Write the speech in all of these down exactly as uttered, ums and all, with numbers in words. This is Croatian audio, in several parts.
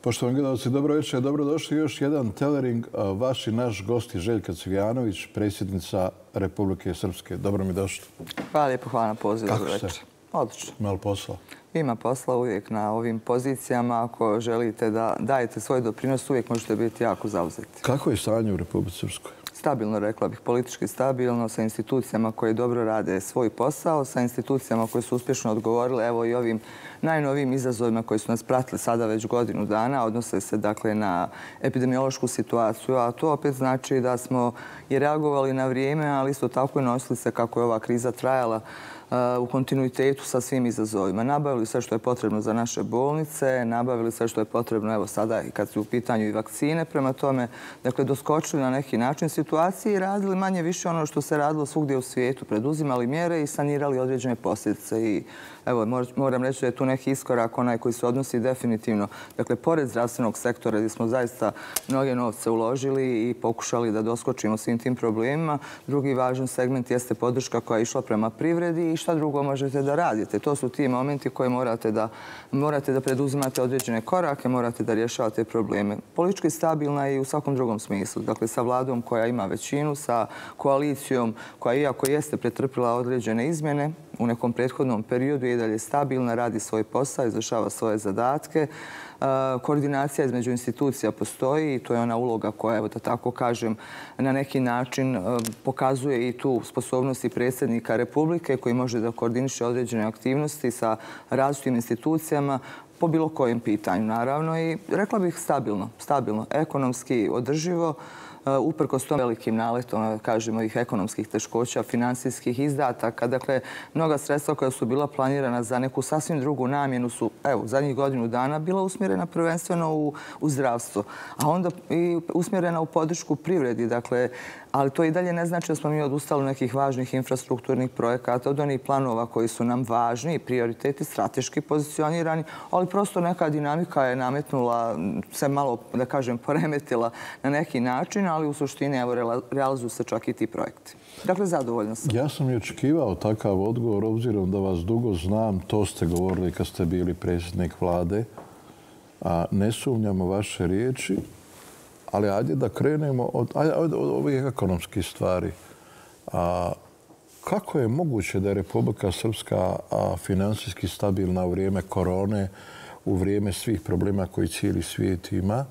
Poštovani gledalci, dobro večer, dobrodošli. Još jedan telering. Vaš i naš gost je Željka Cvijanović, predsjednica Republike Srpske. Dobro mi došli. Hvala lijepo, hvala na pozivu. Kako ste? Odlično. Ima li posla? Ima posla uvijek na ovim pozicijama. Ako želite da dajete svoj doprinos, uvijek možete biti jako zauzeti. Kako je stanje u Republici Srpskoj? Stabilno, rekla bih, politički stabilno, sa institucijama koje dobro rade svoj posao, sa institucijama koje su uspješno odgovorile evo i ovim najnovijim izazovima koji su nas pratili sada već godinu dana, odnose se dakle na epidemiološku situaciju, a to opet znači da smo i reagovali na vrijeme, ali isto tako i nosili se kako je ova kriza trajala u kontinuitetu sa svim izazovima. Nabavili sve što je potrebno za naše bolnice, nabavili sve što je potrebno, evo sada i kad su u pitanju i vakcine, prema tome, dakle, doskočili na neki način situaciji i radili manje više ono što se radilo svugdje u svijetu, preduzimali mjere i sanirali određene posljedice. I evo, moram reći da je tu neki iskorak, onaj koji se odnosi definitivno, dakle, pored zdravstvenog sektora gdje smo zaista mnoge novce uložili i pokušali da doskočimo svim tim problemima. Drugi važan segment jeste podrška koja je išla prema privredi i šta drugo možete da radite. To su ti momenti koje morate da, morate da preduzimate određene korake, morate da rješavate probleme. Politički stabilna je i u svakom drugom smislu. Dakle, sa vladom koja ima većinu, sa koalicijom koja, iako jeste pretrpila određene izmjene u nekom prethodnom periodu, je i dalje stabilna, radi svoj posao, izvršava svoje zadatke. Koordinacija između institucija postoji i to je ona uloga koja, evo da tako kažem, na neki način pokazuje i tu sposobnost i predsjednika Republike koji može da koordiniše određene aktivnosti sa različitim institucijama po bilo kojem pitanju, naravno. I rekla bih stabilno, stabilno, ekonomski održivo, uprkos tom velikim naletom, kažemo, ih ekonomskih teškoća, finansijskih izdataka. Dakle, mnoga sredstva koja su bila planirana za neku sasvim drugu namjenu su, evo, zadnjih godinu dana bila usmjerena prvenstveno u, u zdravstvo, a onda i usmjerena u podršku privredi. Dakle, ali to i dalje ne znači da smo mi odustali nekih važnih infrastrukturnih projekata, od onih planova koji su nam važni, prioriteti, strateški pozicionirani, ali prosto neka dinamika je nametnula, se malo, da kažem, poremetila na neki način, ali u suštini evo, realizuju se čak i ti projekti. Dakle, zadovoljna sam. Ja sam i očekivao takav odgovor, obzirom da vas dugo znam, to ste govorili kad ste bili predsjednik vlade, a ne sumnjamo vaše riječi, ali ajde da krenemo od, od, od ovih ekonomskih stvari. A, kako je moguće da je Republika Srpska a, finansijski stabilna u vrijeme korone, u vrijeme svih problema koji cijeli svijet ima,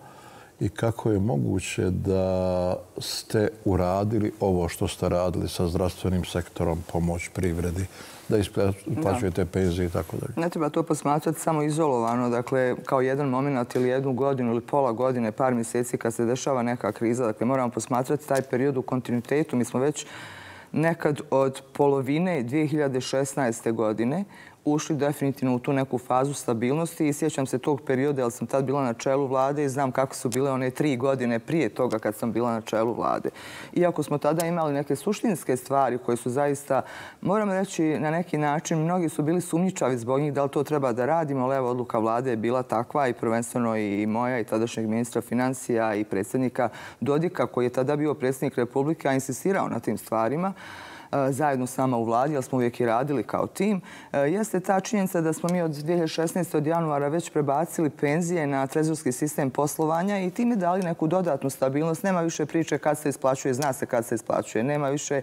i kako je moguće da ste uradili ovo što ste radili sa zdravstvenim sektorom, pomoć privredi, da isplaćujete penzije i tako dalje? Ne treba to posmatrati samo izolovano, dakle, kao jedan moment ili jednu godinu ili pola godine, par mjeseci kad se dešava neka kriza. Dakle, moramo posmatrati taj period u kontinuitetu. Mi smo već nekad od polovine dvije hiljade šesnaeste. godine ušli definitivno u tu neku fazu stabilnosti i sjećam se tog perioda jer sam tad bila na čelu vlade i znam kako su bile one tri godine prije toga kad sam bila na čelu vlade. Iako smo tada imali neke suštinske stvari koje su zaista, moram reći, na neki način, mnogi su bili sumnjičavi zbog njih da li to treba da radimo, ali evo, odluka vlade je bila takva i prvenstveno i moja i tadašnjeg ministra financija i predsjednika Dodika koji je tada bio predsjednik Republike, a insistirao na tim stvarima zajedno s nama u vladi, jer smo uvijek i radili kao tim, jeste ta činjenica da smo mi od dvije hiljade šesnaeste. od januara već prebacili penzije na trezorski sistem poslovanja i time dali neku dodatnu stabilnost. Nema više priče kad se isplaćuje, zna se kad se isplaćuje. Nema više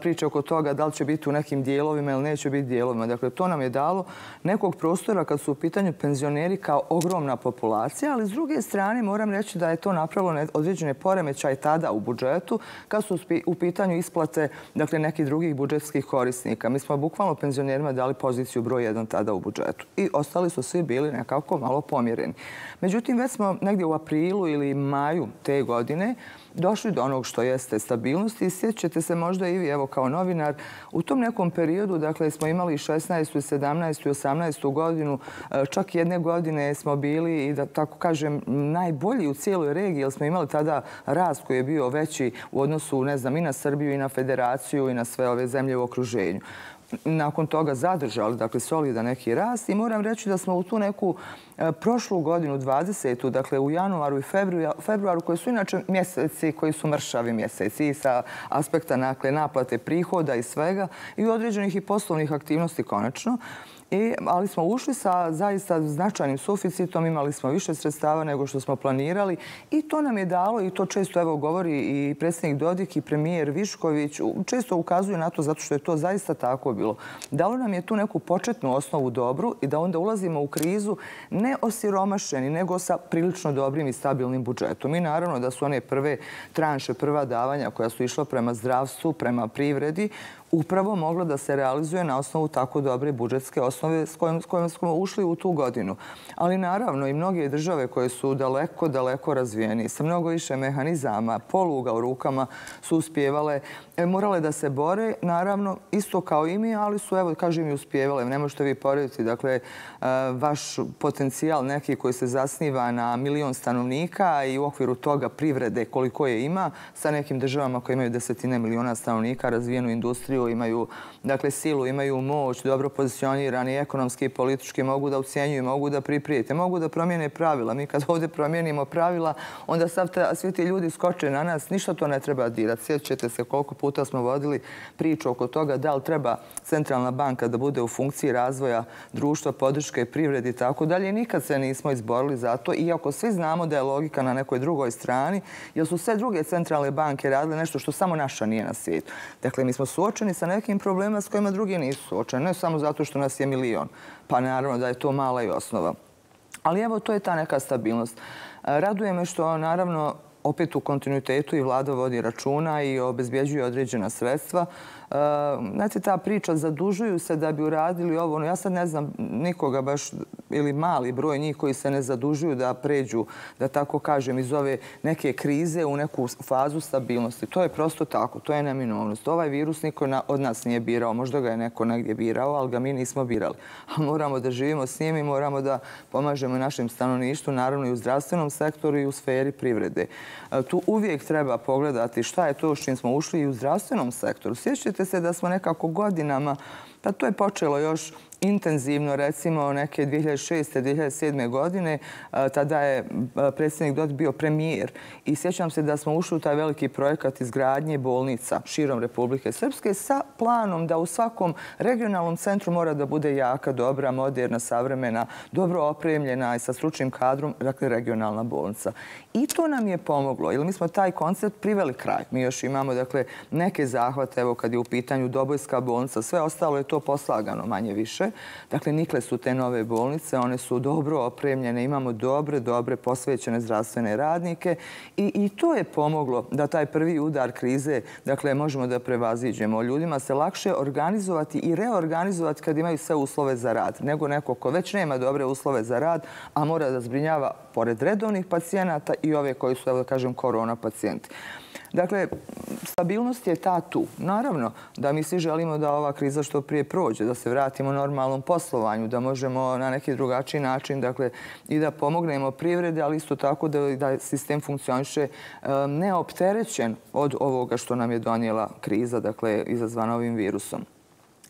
priče oko toga da li će biti u nekim dijelovima ili neće biti dijelovima. Dakle, to nam je dalo nekog prostora kad su u pitanju penzioneri kao ogromna populacija, ali s druge strane moram reći da je to napravilo određene poremećaje tada u budžetu kad su u pitanju isplate, dakle, nekih drugih budžetskih korisnika. Mi smo bukvalno penzionerima dali poziciju broj jedan tada u budžetu i ostali su svi bili nekako malo pomjereni. Međutim, već smo negdje u aprilu ili maju te godine došli do onog što jeste stabilnost i sjećate se možda i vi, evo kao novinar, u tom nekom periodu, dakle, smo imali šesnaestu, sedamnaestu i osamnaestu. godinu, čak jedne godine smo bili, i da tako kažem, najbolji u cijeloj regiji, jer smo imali tada rast koji je bio veći u odnosu, ne znam, i na Srbiju i na Federaciju i na sve ove zemlje u okruženju. Nakon toga zadržali, dakle, solidan neki rast i moram reći da smo u tu neku prošlu godinu, dvadesetu. dakle, u januaru i februaru, koji su inače mjeseci koji su mršavi mjeseci i sa aspekta naplate prihoda i svega i određenih i poslovnih aktivnosti konačno, I, ali smo ušli sa zaista značajnim suficitom, imali smo više sredstava nego što smo planirali i to nam je dalo, i to često evo govori i predsjednik Dodik i premijer Višković, često ukazuju na to zato što je to zaista tako bilo. Dalo nam je tu neku početnu osnovu dobru i da onda ulazimo u krizu ne osiromašeni, nego sa prilično dobrim i stabilnim budžetom. I naravno da su one prve tranše, prva davanja koja su išla prema zdravstvu, prema privredi, upravo moglo da se realizuje na osnovu tako dobre budžetske osnove s kojom, s kojom smo ušli u tu godinu. Ali naravno i mnoge države koje su daleko, daleko razvijeni, sa mnogo više mehanizama, poluga u rukama su uspjevale, morale da se bore, naravno isto kao i mi, ali su, evo, kažem, i uspjevale. Ne možete vi porediti, dakle, vaš potencijal neki koji se zasniva na milion stanovnika i u okviru toga privrede koliko je ima sa nekim državama koje imaju desetine miliona stanovnika, razvijenu industriju, imaju, dakle, silu, imaju moć, dobro pozicionirani, ekonomski i politički, mogu da ucijenjuju, mogu da priprijete, mogu da promijene pravila. Mi kad ovdje promijenimo pravila, onda svi ti ljudi skoče na nas, ništa to ne treba dirati. Sjećate se koliko puta smo vodili priču oko toga da li treba centralna banka da bude u funkciji razvoja društva, podrške, privredi i tako dalje. Nikad se nismo izborili za to, iako svi znamo da je logika na nekoj drugoj strani, jer su sve druge centralne banke radile nešto što samo naša nije na svijetu. Dakle, mi smo suočeni sa nekim problemima s kojima drugi nisu suočeni, ne samo zato što nas je milion, pa naravno da je to mala i osnova. Ali evo, to je ta neka stabilnost. Raduje me što, naravno, opet u kontinuitetu i vlada vodi računa i obezbjeđuje određena sredstva. Znate, ta priča, zadužuju se da bi uradili ovo. Ja sad ne znam nikoga baš, ili mali broj njih koji se ne zadužuju da pređu, da tako kažem, iz ove neke krize u neku fazu stabilnosti. To je prosto tako, to je neminovnost. Ovaj virus niko od nas nije birao, možda ga je neko negdje birao, ali ga mi nismo birali. Ali moramo da živimo s njim i moramo da pomažemo našem stanovništvu, naravno i u zdravstvenom sektoru i u sferi privrede. Tu uvijek treba pogledati šta je to s čim smo ušli i u zdravstvenom sektoru. Sjećate se da smo nekako godinama, pa to je počelo još intenzivno, recimo neke dvije hiljade šeste. dvije hiljade sedme. godine. Tada je predsjednik Dodik bio premijer i sjećam se da smo ušli u taj veliki projekat izgradnje bolnica širom Republike Srpske sa planom da u svakom regionalnom centru mora da bude jaka, dobra, moderna, savremena, dobro opremljena i sa stručnim kadrom, dakle regionalna bolnica. I to nam je pomoglo, jer mi smo taj koncept priveli kraj. Mi još imamo, dakle, neke zahvate, evo kad je u pitanju Dobojska bolnica, sve ostalo je to poslagano manje više. Dakle, nikle su te nove bolnice, one su dobro opremljene, imamo dobre, dobre posvećene zdravstvene radnike i, i to je pomoglo da taj prvi udar krize, dakle, možemo da prevaziđemo. Ljudima se lakše organizovati i reorganizovati kad imaju sve uslove za rad, nego neko ko već nema dobre uslove za rad, a mora da zbrinjava pored redovnih pacijenata i ove koji su, evo da kažem, korona pacijenti. Dakle, stabilnost je ta tu. Naravno da mi svi želimo da ova kriza što prije prođe, da se vratimo normalnom poslovanju, da možemo na neki drugačiji način, dakle, i da pomognemo privrede, ali isto tako da, da sistem funkcioniše neopterećen od ovoga što nam je donijela kriza, dakle, izazvana ovim virusom.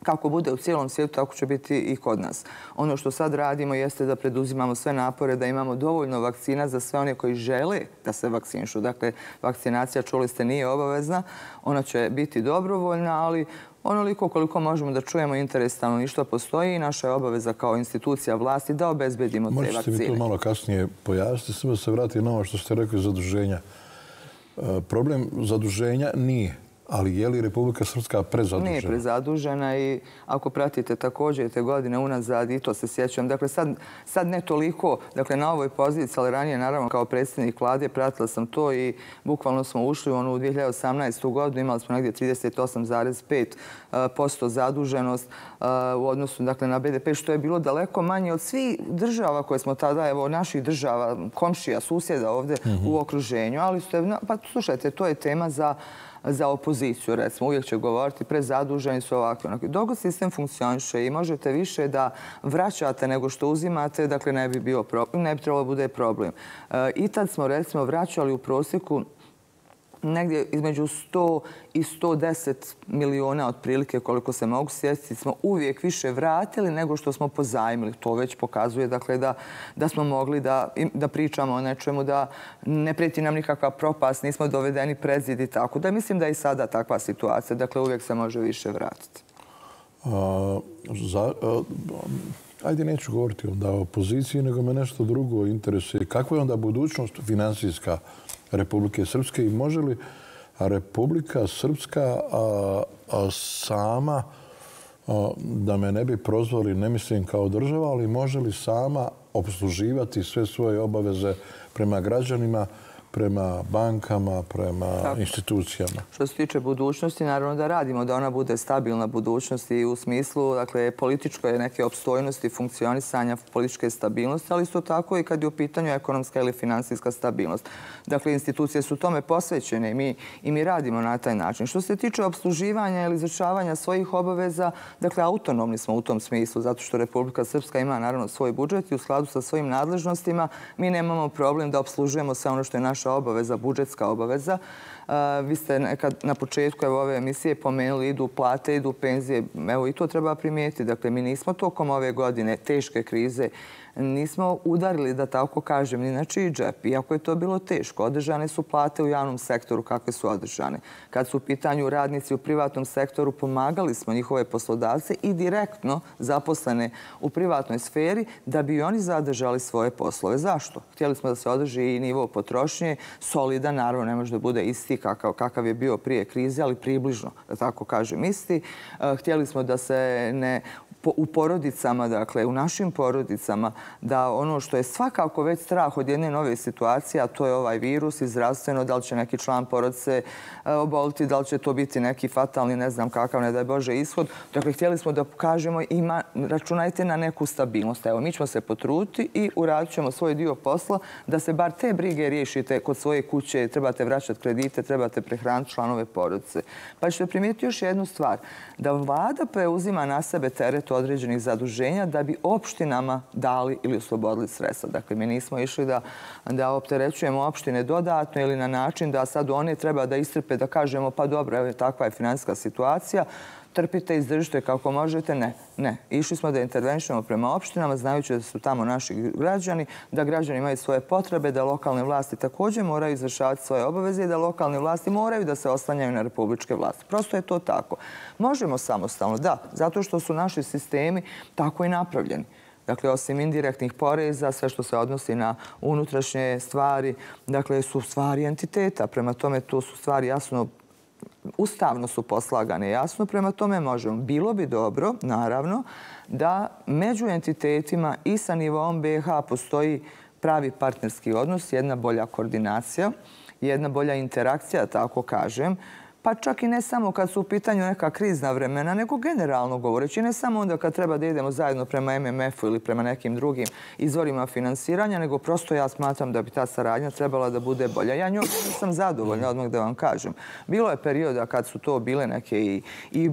Kako bude u cijelom svijetu, tako će biti i kod nas. Ono što sad radimo jeste da preduzimamo sve napore, da imamo dovoljno vakcina za sve one koji žele da se vakcinišu. Dakle, vakcinacija, čuli ste, nije obavezna. Ona će biti dobrovoljna, ali onoliko koliko možemo da čujemo interes stanovništva postoji i naša je obaveza kao institucija vlasti da obezbedimo te vakcine. Možete mi to malo kasnije pojasniti, samo se vrati na ovo što ste rekli, zaduženja. Problem zaduženja nije. Ali je li Republika Srpska prezadužena? Nije prezadužena i ako pratite također te godine unazad, i to se sjećam. Dakle, sad, sad ne toliko, dakle, na ovoj poziciji, ali ranije, naravno, kao predsjednik vlade, pratila sam to i bukvalno smo ušli u onu dvije hiljade osamnaestu. godinu, imali smo negdje trideset osam zarez pet posto zaduženost u odnosu, dakle, na be de pe, što je bilo daleko manje od svih država koje smo tada, evo, naših država, komšija, susjeda ovdje mm-hmm. u okruženju. Ali, pa slušajte, to je tema za za opoziciju, recimo, uvijek će govoriti prezaduženi su ovakvi. Dok sistem funkcioniše i možete više da vraćate nego što uzimate, dakle ne bi bio problem, ne bi trebalo bude problem. I tad smo, recimo, vraćali u prosjeku negdje između sto i sto deset miliona otprilike, koliko se mogu sjetiti, smo uvijek više vratili nego što smo pozajmili. To već pokazuje, dakle, da, da smo mogli da, da pričamo o nečemu, da ne prijeti nam nikakva propast, nismo dovedeni pred zid i tako. Da mislim da je i sada takva situacija. Dakle, uvijek se može više vratiti. Ajde, neću govoriti onda o opoziciji, nego me nešto drugo interesuje. Kakva je onda budućnost finansijska Republike Srpske i može li Republika Srpska sama, da me ne bi prozvali, ne mislim kao država, ali može li sama opsluživati sve svoje obaveze prema građanima, prema bankama, prema institucijama? Što se tiče budućnosti, naravno da radimo da ona bude stabilna budućnost i u smislu političke neke opstojnosti, funkcionisanja, političke stabilnosti, ali isto tako i kad je u pitanju ekonomska ili finansijska stabilnost. Dakle, institucije su tome posvećene i mi radimo na taj način. Što se tiče opsluživanja ili izvršavanja svojih obaveza, dakle, autonomni smo u tom smislu, zato što Republika Srpska ima naravno svoj budžet i u skladu sa svojim nadležnostima mi nemamo problem da opslužujemo sve ono što je naša obaveza, budžetska obaveza. Vi ste nekad na početku ove emisije pomenuli idu plate, idu penzije. Evo i to treba primijetiti. Dakle, mi nismo tokom ove godine teške krize nismo udarili, da tako kažem, ni na čiji džep. Iako je to bilo teško, održane su plate u javnom sektoru kakve su održane. Kad su u pitanju radnici u privatnom sektoru, pomagali smo njihove poslodavce i direktno zaposlene u privatnoj sferi da bi oni zadržali svoje poslove. Zašto? Htjeli smo da se održi i nivo potrošnje, solidan, naravno ne može da bude isti kakav je bio prije krize, ali približno, da tako kažem, isti. Htjeli smo da se ne u porodicama, dakle u našim porodicama, da ono što je svakako već strah od jedne nove situacije, a to je ovaj virus i zdravstveno, da li će neki član porodice oboliti, da li će to biti neki fatalni, ne znam kakav, ne daj Bože, ishod. Dakle, htjeli smo da pokažemo, računajte na neku stabilnost. Evo, mi ćemo se potruditi i uradit ćemo svoj dio posla da se bar te brige riješite kod svoje kuće, trebate vraćati kredite, trebate prehraniti članove porodice. Pa ćete primijetiti još jednu stvar, da vlada preuzima na sebe teret određenih zaduženja da bi opštinama dali ili oslobodili sredstva. Dakle, mi nismo išli da opterećujemo opštine dodatno ili na način da sad one treba da istrpe, da kažemo pa dobro, evo takva je finansijska situacija, trpite, izdržite kako možete. Ne, ne. Išli smo da intervenšemo prema opštinama, znajući da su tamo naši građani, da građani imaju svoje potrebe, da lokalne vlasti također moraju izvršavati svoje obaveze i da lokalne vlasti moraju da se oslanjaju na republičke vlasti. Prosto je to tako. Možemo samostalno, da, zato što su naši sistemi tako i napravljeni. Dakle, osim indirektnih poreza, sve što se odnosi na unutrašnje stvari, dakle, su stvari entiteta. Prema tome, to su stvari jasno ustavno su poslagane, jasno, prema tome možemo. Bilo bi dobro, naravno, da među entitetima i sa nivom be ha postoji pravi partnerski odnos, jedna bolja koordinacija, jedna bolja interakcija, tako kažem, pa čak i ne samo kad su u pitanju neka krizna vremena, nego generalno govoreći, ne samo onda kad treba da idemo zajedno prema em em efu ili prema nekim drugim izvorima finansiranja, nego prosto ja smatram da bi ta saradnja trebala da bude bolja. Ja njom nisam zadovoljna, odmah da vam kažem. Bilo je perioda kad su to bile neke i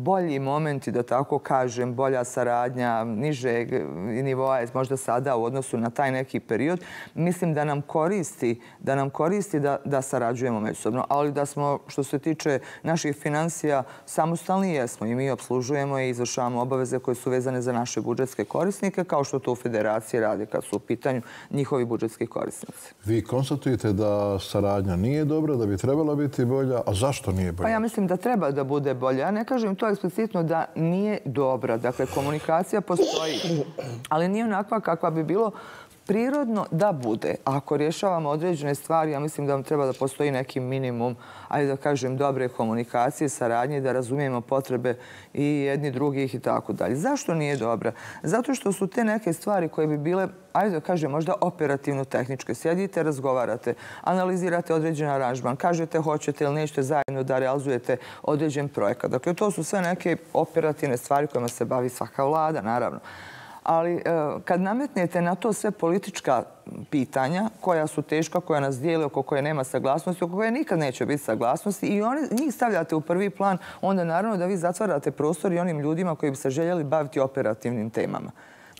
bolji momenti, da tako kažem, bolja saradnja, nižeg nivoa je možda sada u odnosu na taj neki period. Mislim da nam koristi da nam koristi da sarađujemo međusobno, ali da smo, što se tiče naših financija, samostalni jesmo i mi obslužujemo i izvršavamo obaveze koje su vezane za naše budžetske korisnike, kao što to u federaciji rade kad su u pitanju njihovi budžetski korisnici. Vi konstatujete da saradnja nije dobra, da bi trebala biti bolja, a zašto nije bolja? Pa ja mislim da treba da bude bolja. Ja ne kažem to eksplicitno da nije dobra. Dakle, komunikacija postoji, ali nije onakva kakva bi bilo prirodno da bude. Ako rješavamo određene stvari, ja mislim da vam treba da postoji neki minimum, ajde da kažem, dobre komunikacije, saradnje, da razumijemo potrebe i jedni drugih i tako dalje. Zašto nije dobra? Zato što su te neke stvari koje bi bile, ajde da kažem, možda operativno-tehničke. Sjedite, razgovarate, analizirate određen aranžman, kažete hoćete ili nećete zajedno da realizujete određen projekat. Dakle, to su sve neke operativne stvari kojima se bavi svaka vlada, naravno. Ali kad nametnete na to sve politička pitanja koja su teška, koja nas dijele, oko koje nema saglasnosti, oko koje nikad neće biti saglasnosti i njih stavljate u prvi plan, onda naravno da vi zatvarate prostor i onim ljudima koji bi se željeli baviti operativnim temama.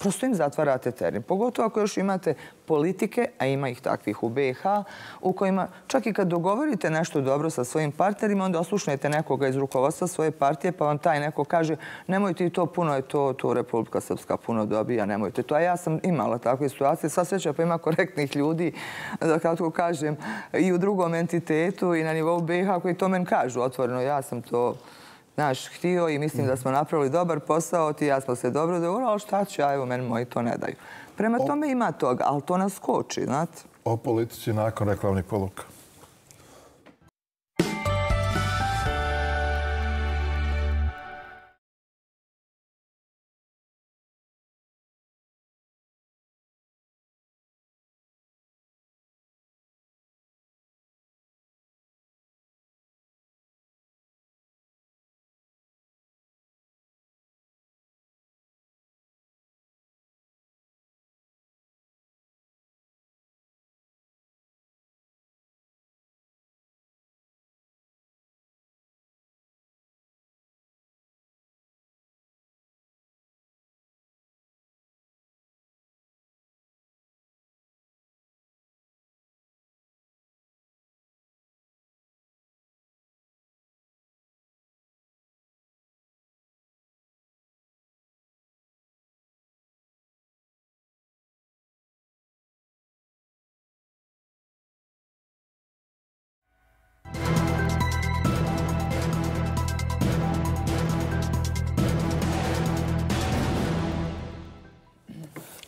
Prosto im zatvarate teren. Pogotovo ako još imate politike, a ima ih takvih u be ha, u kojima čak i kad dogovorite nešto dobro sa svojim partnerima, onda oslušnete nekoga iz rukovodstva svoje partije, pa vam taj neko kaže nemojte i to puno, je to, to Republika Srpska puno dobija, nemojte to. A ja sam imala takve situacije. Sva sreća pa ima korektnih ljudi, da kako kažem, i u drugom entitetu i na nivou be ha koji to men kažu otvoreno. Ja sam to znaš, htio i mislim da smo napravili dobar posao, ti ja smo se dobro dogovorili, ali šta ću, a evo, meni moji to ne daju. Prema tome ima toga, ali to nas koči, znate. O politici nakon reklamnih poruka.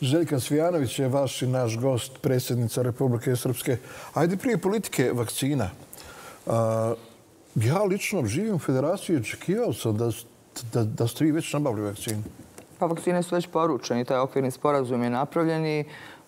Željka Cvijanović je vaš i naš gost, predsjednica Republike Srpske. Ajde prije politike vakcina. Ja lično živim u Federaciji i očekivao sam da ste vi već nabavili vakcinu. Pa vakcine su već poručene. Taj okvirni sporazum je napravljen i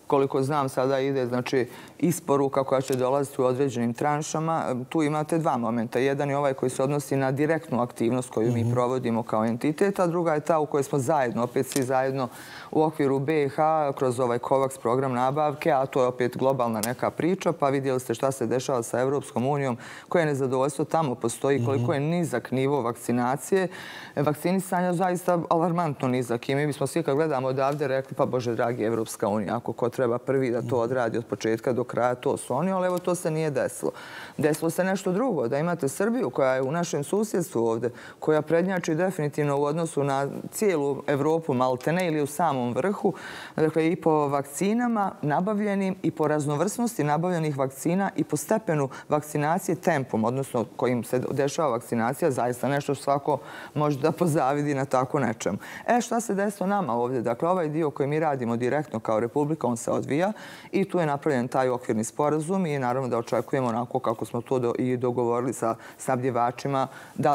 koliko znam sada ide znači isporuka koja će dolaziti u određenim tranšama. Tu imate dva momenta. Jedan je ovaj koji se odnosi na direktnu aktivnost koju mi provodimo kao entitet, a druga je ta u kojoj smo zajedno, opet svi zajedno u okviru B i H kroz ovaj COVAX program nabavke, a to je opet globalna neka priča, pa vidjeli ste šta se dešava sa Evropskom unijom, koje nezadovoljstvo tamo postoji, koliko je nizak nivo vakcinacije. Vakcinisanja zaista alarmantno nizak i mi bismo svi kad gledamo odavde rekli pa Bože dragi Evropska unija, ako ko treba prvi da to odradi od početka do kraja, to su oni, ali evo to se nije desilo. Desilo se nešto drugo, da imate Srbiju koja je u našem susjedstvu ovde, koja prednjači definitivno u odnosu na cijelu Evropu maltene ili u samom vrhu, dakle i po vakcinama nabavljenim i po raznovrsnosti nabavljenih vakcina i po stepenu vakcinacije tempom, odnosno kojim se dešava vakcinacija, zaista nešto što svako može da pozavidi na tako nečemu. E šta se desilo nama ovdje? Dakle, ovaj dio koji mi radimo direktno kao Republika, on se odvija i tu je napravljen taj okvirni sporazum i naravno da očekujemo onako kako smo to i dogovorili sa snabdjevačima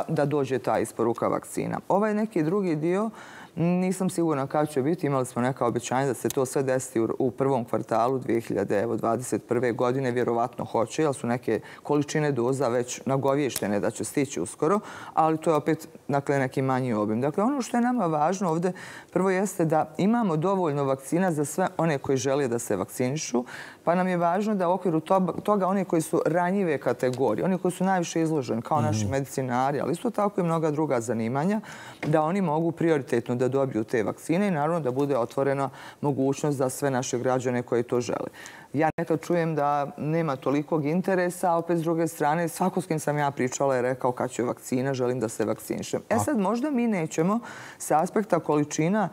da dođe ta isporuka vakcina. Ovaj neki drugi dio nisam sigurna kada će biti. Imali smo neka obećanja da se to sve desi u prvom kvartalu dvije hiljade dvadeset prve. godine. Vjerovatno hoće, jer su neke količine doza već nagovještene da će stići uskoro, ali to je opet neki manji obim. Dakle, ono što je nama važno ovdje prvo jeste da imamo dovoljno vakcina za sve one koji žele da se vakcinišu, pa nam je važno da u okviru toga oni koji su ranjive kategorije, oni koji su najviše izloženi, kao naši medicinari, ali isto tako i mnoga druga zanimanja, da oni mogu prioritetno da dobiju te vakcine i naravno da bude otvorena mogućnost za sve naše građane koji to žele. Ja nekad čujem da nema tolikog interesa, a opet s druge strane svako s kim sam ja pričala je rekao kad će vakcina, želim da se vakcinišem. E sad možda mi nećemo sa aspekta količina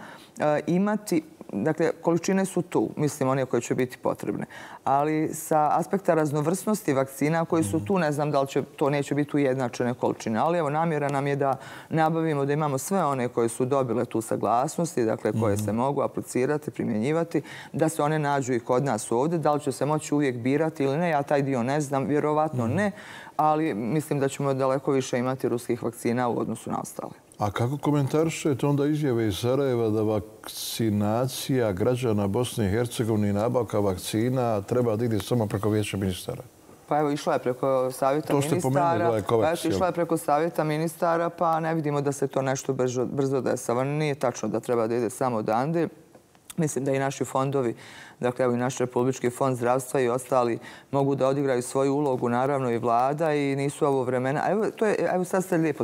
imati, dakle, količine su tu, mislim, one koje će biti potrebne. Ali sa aspekta raznovrsnosti vakcina koji su tu, ne znam da li će, to neće biti ujednačene količine. Ali evo, namjera nam je da nabavimo, da imamo sve one koje su dobile tu saglasnosti, dakle, koje se mogu aplicirati, primjenjivati, da se one nađu i kod nas ovdje. Da li će se moći uvijek birati ili ne, ja taj dio ne znam, vjerovatno ne, ali mislim da ćemo daleko više imati ruskih vakcina u odnosu na ostale. A kako komentarišete onda izjave iz Sarajeva da vakcinacija građana Bosne i Hercegovine i nabavka vakcina treba da ide samo preko Vijeća ministara? Pa evo, išla je preko savjeta ministara. Išla je preko savjeta ministara, pa ne vidimo da se to nešto brzo desava. Nije tačno da treba da ide samo odande. Mislim da i naši fondovi, dakle evo i naš Republički fond zdravstva i ostali mogu da odigraju svoju ulogu, naravno i vlada i nisu ovo vremena. Evo sad ste lijepo,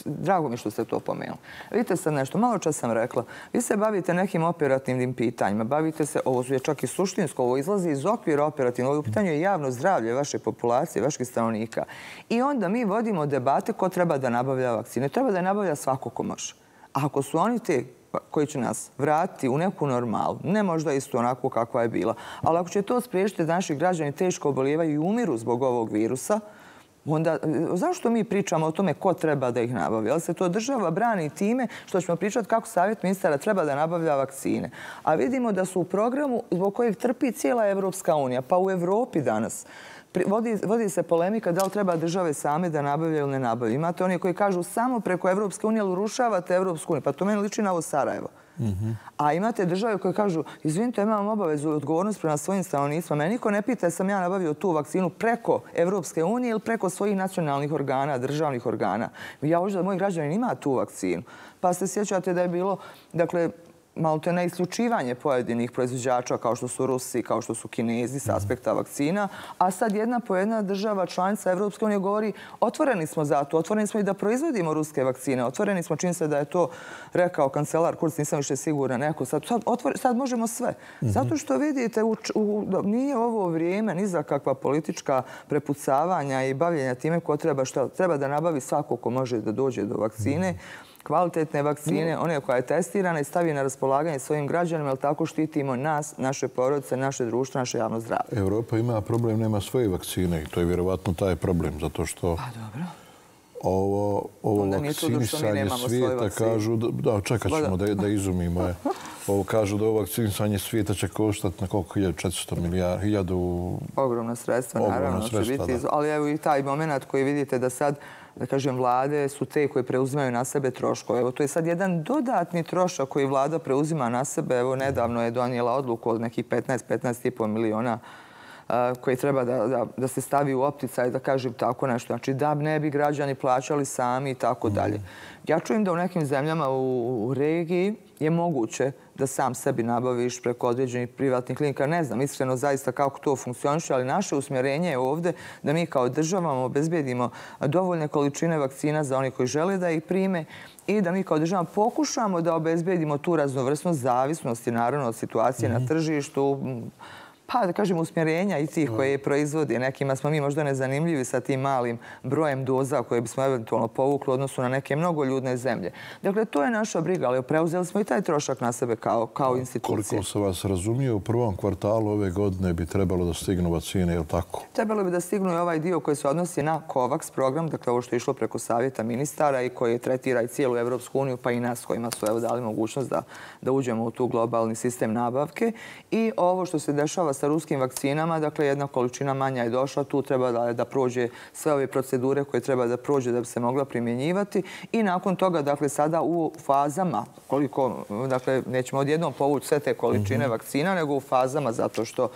drago mi što ste to pomenuli. Vidite sad nešto, malo čas sam rekla, vi se bavite nekim operativnim pitanjima, bavite se, ovo je čak i suštinsko, ovo izlazi iz okvira operativnog, ovo pitanje je javno zdravlje vaše populacije, vaših stanovnika. I onda mi vodimo debate ko treba da nabavlja vakcine. Treba da je nabavlja svako ko može. A ako su oni te koji će nas vratiti u neku normalu, ne možda isto onako kakva je bila, ali ako će to spriječiti da naši građani teško obolijevaju i umiru zbog ovog virusa, onda zašto mi pričamo o tome ko treba da ih nabavlja? Ali se to država brani time što ćemo pričati kako savjet ministara treba da nabavlja vakcine. A vidimo da su u programu zbog kojeg trpi cijela Evropska unija, pa u Evropi danas. Vodi, vodi se polemika da li treba države same da nabavljaju ili ne nabavljaju. Imate oni koji kažu samo preko Evropske unije, ali urušavate Evropsku uniju. Pa to meni liči na ovo Sarajevo. Mm-hmm. A imate države koje kažu, izvinite, imam obavezu i odgovornost prema svojim stanovnicima. Mene niko ne pita sam ja nabavio tu vakcinu preko Evropske unije ili preko svojih nacionalnih organa, državnih organa. Ja hoću da moj građanin ima tu vakcinu. Pa se sjećate da je bilo, dakle, malo te na isključivanje pojedinih proizvođača kao što su Rusi, kao što su Kinezi s aspekta vakcina, a sad jedna po jedna država članica Evropske unije govori otvoreni smo za to, otvoreni smo i da proizvodimo ruske vakcine, otvoreni smo, čini se da je to rekao kancelar Kurz, nisam više sigurna neko, sad, sad, otvore, sad možemo sve. Mm-hmm. Zato što vidite, u, u, nije ovo vrijeme ni za kakva politička prepucavanja i bavljenja time ko treba, šta, treba da nabavi svako ko može da dođe do vakcine. Mm-hmm. Kvalitetne vakcine, one koja je testirana i stavi na raspolaganje svojim građanima, ali tako štitimo nas, naše porodice, naše društvo, naše javno zdravlje. Evropa ima problem, nema svoje vakcine i to je vjerovatno taj problem, zato što pa, dobro. ovo, ovo vakcinisanje svijeta kažu, da, da čekat ćemo da, da izumimo je. Ovo kažu da ovo vakcinisanje svijeta će koštati na koliko hiljadu četiristo milijardi, hiljadu... Ogromna sredstva, naravno, će biti. Da. Ali evo i taj moment koji vidite da sad, da kažem, vlade su te koje preuzimaju na sebe troškove. Evo, to je sad jedan dodatni trošak koji vlada preuzima na sebe. Evo, nedavno je donijela odluku od nekih petnaest do petnaest i po miliona koji treba da, da, da se stavi u opticaj, da kažem tako nešto. Znači, da ne bi građani plaćali sami i tako dalje. Ja čujem da u nekim zemljama u, u regiji je moguće da sam sebi nabaviš preko određenih privatnih klinika. Ne znam iskreno zaista kako to funkcioniše, ali naše usmjerenje je ovdje da mi kao državama obezbedimo dovoljne količine vakcina za oni koji žele da ih prime i da mi kao država pokušamo da obezbedimo tu raznovrsnost zavisnosti naravno od situacije mm-hmm. na tržištu, pa da kažem usmjerenja i tih koje proizvodi. Nekima smo mi možda nezanimljivi sa tim malim brojem doza koje bismo eventualno povukli u odnosu na neke mnogoljudne zemlje. Dakle, to je naša briga, ali preuzeli smo i taj trošak na sebe kao, kao institucije. Koliko sam vas razumio, u prvom kvartalu ove godine bi trebalo da stignu vakcine, je li tako? Trebalo bi da stignu i ovaj dio koji se odnosi na COVAX program, dakle ovo što je išlo preko savjeta ministara i koji tretira i cijelu Evropsku uniju, pa i nas kojima su evo dali mogućnost da, da uđemo u tu globalni sistem nabavke. I ovo što se dešava sa ruskim vakcinama, dakle jedna količina manja je došla, tu treba da, da prođe sve ove procedure koje treba da prođe da bi se mogla primjenjivati i nakon toga, dakle sada u fazama, koliko, dakle nećemo odjednom povući sve te količine mm-hmm. vakcina, nego u fazama zato što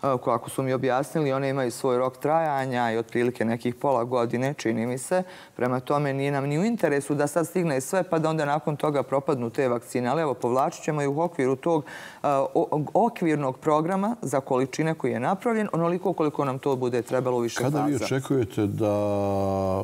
kako su mi objasnili, one imaju svoj rok trajanja i otprilike nekih pola godine, čini mi se. Prema tome nije nam ni u interesu da sad stigne sve pa da onda nakon toga propadnu te vakcine. Ali evo, povlačit ćemo i u okviru tog uh, okvirnog programa za količine koji je napravljen, onoliko koliko nam to bude trebalo više faza. Kada vi očekujete da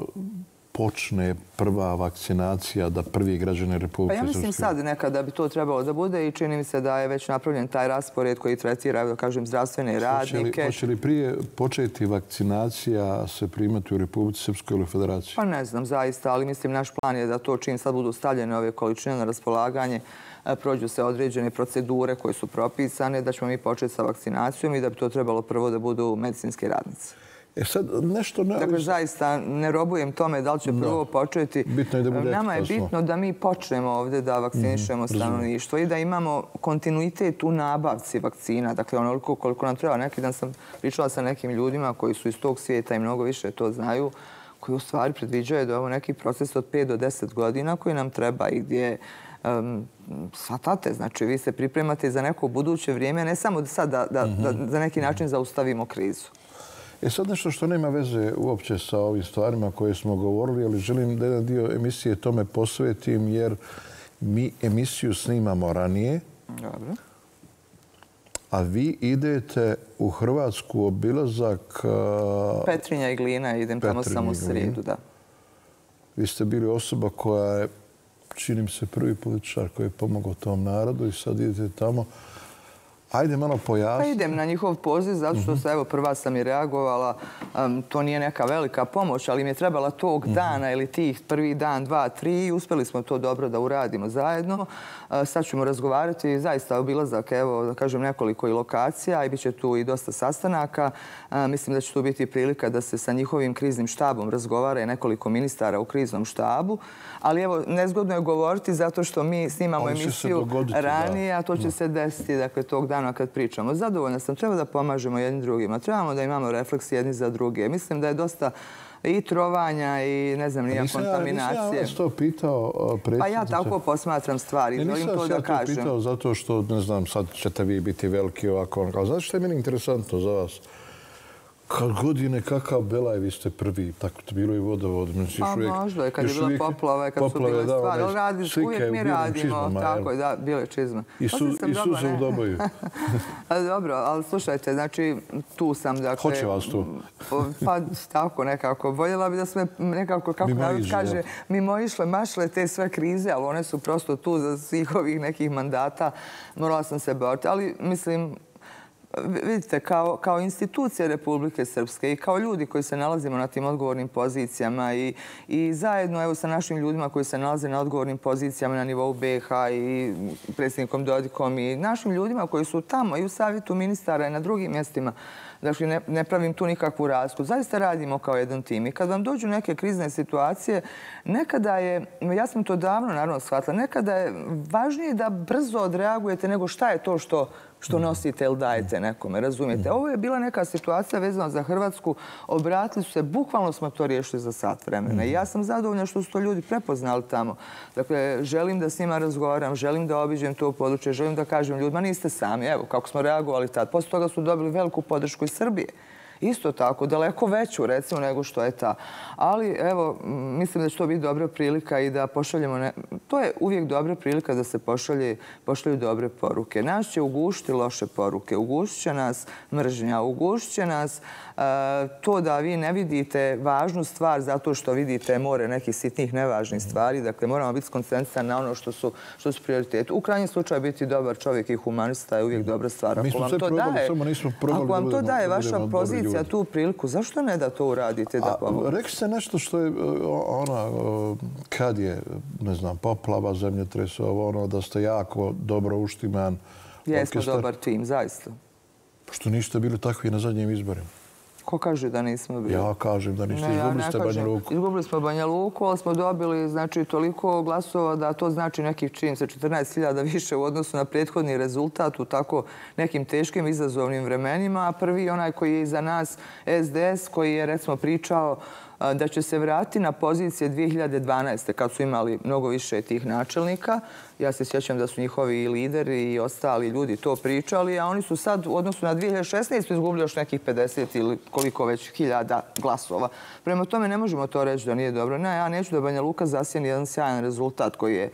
počne prva vakcinacija, da prvi građani Republike Srpske? Pa ja mislim sad nekada bi to trebalo da bude i čini mi se da je već napravljen taj raspored koji tretira, da kažem, zdravstvene radnike. Hoće li prije početi vakcinacija se primati u Republici Srpskoj ili Federaciji? Pa ne znam zaista, ali mislim naš plan je da to čim sad budu stavljene ove količine na raspolaganje, prođu se određene procedure koje su propisane, da ćemo mi početi sa vakcinacijom i da bi to trebalo prvo da budu medicinske radnice. E sad, nešto ne... Dakle, zaista ne robujem tome da li će prvo početi. Bitno je da bude Nama je bitno da mi počnemo ovdje da vakcinišemo stanovništvo i da imamo kontinuitet u nabavci vakcina. Dakle, onoliko koliko nam treba. Neki dan sam pričala sa nekim ljudima koji su iz tog svijeta i mnogo više to znaju, koji u stvari predviđaju da je ovo neki proces od pet do deset godina koji nam treba i gdje um, shvatate. Znači, vi se pripremate za neko buduće vrijeme, ne samo sad da, da, da, da za neki način zaustavimo krizu. E sad nešto što nema veze uopće sa ovim stvarima koje smo govorili, ali želim da jedan dio emisije tome posvetim jer mi emisiju snimamo ranije. Dobro. A vi idete u Hrvatsku obilazak... Petrinja i Glina, idem tamo samo u srijedu, da. Vi ste bili osoba koja je, čini mi se, prvi političar koji je pomogao tom narodu i sad idete tamo. Ajde malo pojasni. Pa idem na njihov poziv, zato što se, evo, prva sam i reagovala. Um, to nije neka velika pomoć, ali mi je trebala tog dana ili tih prvi dan, dva, tri i uspjeli smo to dobro da uradimo zajedno. Uh, sad ćemo razgovarati zaista obilazak, evo, da kažem, nekoliko i lokacija i bit će tu i dosta sastanaka. Uh, mislim da će tu biti prilika da se sa njihovim kriznim štabom razgovara i nekoliko ministara u kriznom štabu. Ali evo, nezgodno je govoriti zato što mi snimamo emisiju ranije, a to će se desiti, dakle, tog dana kad pričamo. Zadovoljna sam, treba da pomažemo jednim drugima, trebamo da imamo refleks jedni za druge. Mislim da je dosta i trovanja i, ne znam, nija kontaminacije. Nisam ja vas to pitao, predsjednice. Pa ja tako posmatram stvari, želim to da kažem. Nisam ja to pitao zato što, ne znam, sad ćete vi biti veliki ovako. Znate što je meni interesantno za vas? Kad godine kakav belaj, vi ste prvi, tako to bilo i vodovod. Pa možda je, kad je bila poplava, kad su bile stvari. Uvijek mi radimo, tako je, da, bile čizme. I suze u doboju. Dobro, ali slušajte, znači, tu sam, dakle... Hoće vas tu? Pa tako nekako. Voljela bi da smo nekako, kako narod kaže, mimo išle, mašle te sve krize, ali one su prosto tu za svih ovih nekih mandata. Morala sam se boriti, ali mislim... Vidite, kao, kao institucija Republike Srpske i kao ljudi koji se nalazimo na tim odgovornim pozicijama i, i zajedno evo, sa našim ljudima koji se nalaze na odgovornim pozicijama na nivou B iH i predsjednikom Dodikom i našim ljudima koji su tamo i u savjetu ministara i na drugim mjestima, dakle, ne, ne pravim tu nikakvu razliku. Zaista radimo kao jedan tim. I kad vam dođu neke krizne situacije, nekada je, ja sam to davno naravno shvatila, nekada je važnije da brzo odreagujete nego šta je to što što nosite ili dajete nekome, razumijete? Ovo je bila neka situacija vezana za Hrvatsku. Obratili su se, bukvalno smo to riješili za sat vremena. I ja sam zadovoljna što su to ljudi prepoznali tamo. Dakle, želim da s njima razgovaram, želim da obiđem to područje, želim da kažem ljudima, niste sami, evo, kako smo reagovali tad. Poslije toga su dobili veliku podršku iz Srbije. Isto tako, daleko veću, recimo, nego što je ta. Ali, evo, mislim da će to biti dobra prilika i da pošaljemo... Ne... To je uvijek dobra prilika da se pošalje, pošalju dobre poruke. Nas će ugušiti loše poruke. Ugušit će nas mržnja. Ugušit će nas uh, to da vi ne vidite važnu stvar zato što vidite more nekih sitnih nevažnih stvari. Dakle, moramo biti skoncentrisani na ono što su, što su prioriteti. U krajnjem slučaju biti dobar čovjek i humanista je uvijek dobra stvar. Ako vam to daje, ako vam to daje vaša pozicija, tu priliku, zašto ne da to uradite da pomogu? Rekli ste nešto što je ona, kad je, ne znam, poplava, zemljotres, ono, da ste jako dobro uštiman. Jesmo dobar tim, zaista. Što niste bili takvi na zadnjim izborima? Ko kaže da nismo bili? Ja kažem da niste. Izgubili ste Banja Luku. Izgubili smo Banja Luku, ali smo dobili znači, toliko glasova da to znači nekih čini se četrnaest hiljada više u odnosu na prethodni rezultat u tako nekim teškim izazovnim vremenima. A prvi onaj koji je iza nas S D S koji je recimo pričao da će se vratiti na pozicije dvije hiljade dvanaeste. kad su imali mnogo više tih načelnika. Ja se sjećam da su njihovi lideri i ostali ljudi to pričali, a oni su sad u odnosu na dvije hiljade šesnaeste. izgubili još nekih pedeset ili koliko već hiljada glasova. Prema tome ne možemo to reći da nije dobro. Ne, ja neću da Banja Luka zasjeni jedan sjajan rezultat koji je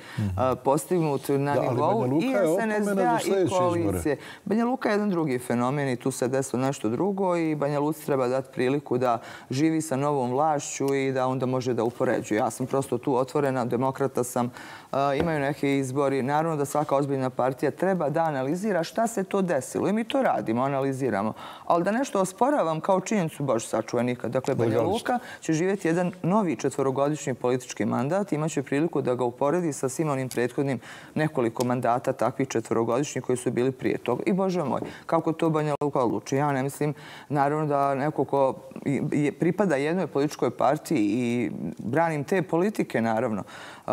postignut na nivou i S N S D-a i koalicije. Banja Luka je jedan drugi fenomen i tu se desilo nešto drugo i Banja Luci treba dati priliku da živi sa novom vlašću i da onda može da upoređuje. Ja sam prosto tu otvorena, demokrata sam, imaju neke izbori. Naravno da svaka ozbiljna partija treba da analizira šta se to desilo. I mi to radimo, analiziramo. Ali da nešto osporavam kao činjenicu, bože sačuvaj nikad. Dakle, Banja Luka će živjeti jedan novi četvorogodišnji politički mandat. Imaće priliku da ga uporedi sa svim onim prethodnim nekoliko mandata takvih četvorogodišnjih koji su bili prije toga. I bože moj, kako to Banja Luka odluči? Ja ne mislim, naravno da neko ko pripada jednoj političkoj partiji i branim te politike, naravno,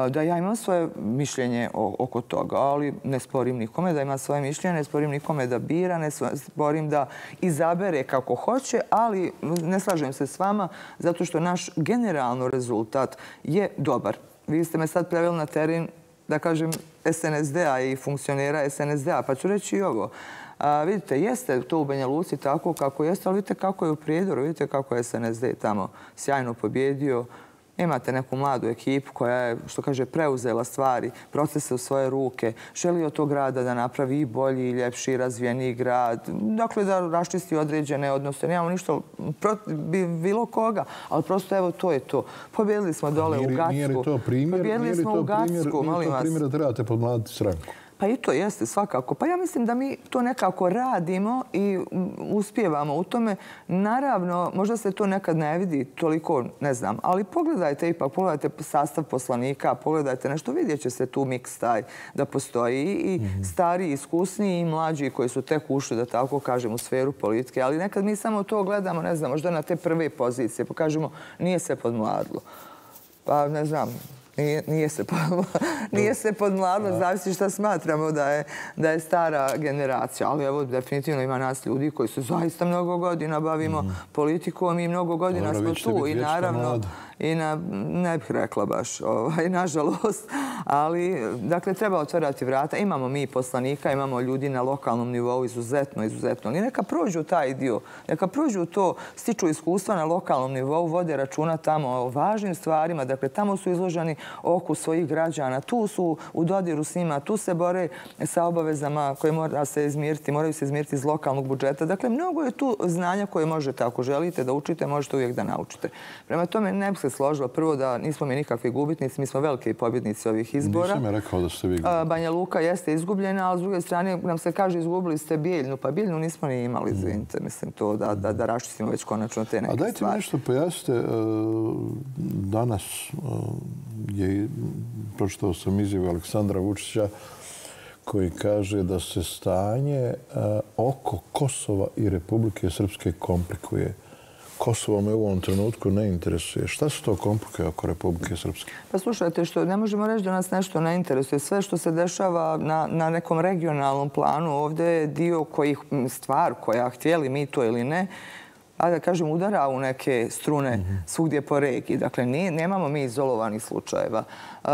da ja imam svoje mišljenje oko toga, ali ne sporim nikome da ima svoje mišljenje, ne sporim nikome da bira, ne sporim da izabere kako hoće, ali ne slažem se s vama zato što naš generalno rezultat je dobar. Vi ste me sad preveli na teren, da kažem, S N S D-a i funkcionera S N S D-a, pa ću reći i ovo. A, vidite, jeste to u Banja Luci tako kako jeste, ali vidite kako je u Prijedoru, vidite kako je S N S D tamo sjajno pobjedio. Imate neku mladu ekipu koja je, što kaže, preuzela stvari, procese u svoje ruke, želi od tog grada da napravi i bolji, i ljepši, i razvijeniji grad. Dakle, da raščisti određene odnose. Nemamo ništa bilo koga, ali prosto evo to je to. Pobjedili smo dole u Gacku. Nije li to primjer? Pobjedili smo u Gacku, molim vas. Nije li to primjer da trebate podmladiti stranku? Pa i to jeste svakako. Pa ja mislim da mi to nekako radimo i uspijevamo u tome. Naravno, možda se to nekad ne vidi toliko, ne znam, ali pogledajte ipak, pogledajte sastav poslanika, pogledajte nešto, vidjet će se tu miks taj da postoji i stari, iskusniji i mlađi koji su tek ušli, da tako kažem, u sferu politike. Ali nekad mi samo to gledamo, ne znam, možda na te prve pozicije, pa kažemo nije se podmladilo. Pa ne znam, Nije, nije, se, nije se podmladilo, zavisi šta smatramo da je, da je stara generacija. Ali evo, definitivno ima nas ljudi koji se zaista mnogo godina bavimo mm. politikom i mnogo godina Dobro, smo tu. I naravno, i na, ne bih rekla baš, ovaj, nažalost, ali dakle treba otvarati vrata. Imamo mi poslanika, imamo ljudi na lokalnom nivou izuzetno, izuzetno. Ali neka prođu taj dio, neka prođu to, stiču iskustva na lokalnom nivou, vode računa tamo o važnim stvarima, dakle tamo su izloženi oku svojih građana, tu su u dodiru s njima, tu se bore sa obavezama koje mora se izmiriti, moraju se izmiriti iz lokalnog budžeta. Dakle, mnogo je tu znanja koje možete, ako želite da učite, možete uvijek da naučite. Prema tome, ne bih se složila prvo da nismo mi nikakvi gubitnici, mi smo veliki pobjednici ovih izbora. Nisam je rekao da ste vi gubitnici. Banja Luka jeste izgubljena, ali s druge strane nam se kaže izgubili ste Bijeljnu, pa Bijeljnu nismo ni imali, izvinite, mislim to da, da, da raščistimo već konačno te neke stvari. A dajte mi nešto pojasnite, danas je, pročitao sam izjavu Aleksandra Vučića koji kaže da se stanje oko Kosova i Republike Srpske komplikuje. Kosovo me u ovom trenutku ne interesuje. Šta su to komplikuje oko Republike Srpske? Pa slušajte, što ne možemo reći da nas nešto ne interesuje. Sve što se dešava na, na nekom regionalnom planu ovdje je dio kojih stvar koja, htjeli mi to ili ne, a da kažem, udara u neke strune mm-hmm. svugdje po regiji. Dakle, nije, nemamo mi izolovanih slučajeva. E,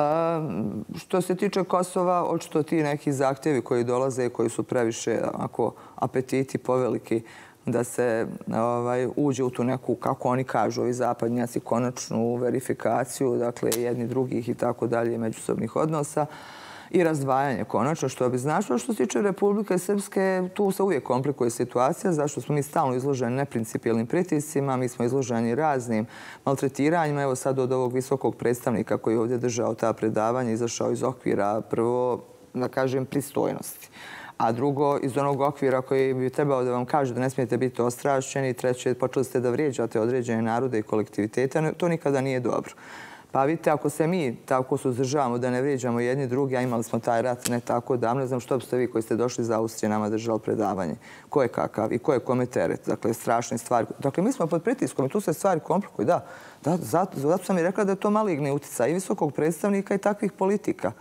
što se tiče Kosova, očito ti neki zahtjevi koji dolaze i koji su previše ako, apetiti poveliki da se ovaj, uđe u tu neku, kako oni kažu, ovi zapadnjaci, konačnu verifikaciju, dakle, jedni drugih i tako dalje, međusobnih odnosa i razdvajanje konačno, što bi značilo. Što se tiče Republike Srpske, tu se uvijek komplikuje situacija, zašto smo mi stalno izloženi neprincipijelnim pritiscima, mi smo izloženi raznim maltretiranjima. Evo sad od ovog visokog predstavnika koji je ovdje držao ta predavanja, izašao iz okvira prvo, da kažem, pristojnosti. A drugo, iz onog okvira koji bi trebao da vam kaže da ne smijete biti ostrašćeni. Treće, počeli ste da vrijeđate određene narode i kolektivitete. To nikada nije dobro. Pa vidite, ako se mi tako suzdržavamo da ne vrijeđamo jedni drugi, a imali smo taj rat ne tako davno, ne znam što biste vi koji ste došli iz Austrije nama držali predavanje. Ko je kakav i ko je kome teret. Dakle, strašne stvari. Dakle, mi smo pod pritiskom i tu se stvari komplikuju. Da, da zato, zato sam i rekla da je to maligni utjecaj i visokog predstavnika i takvih politika.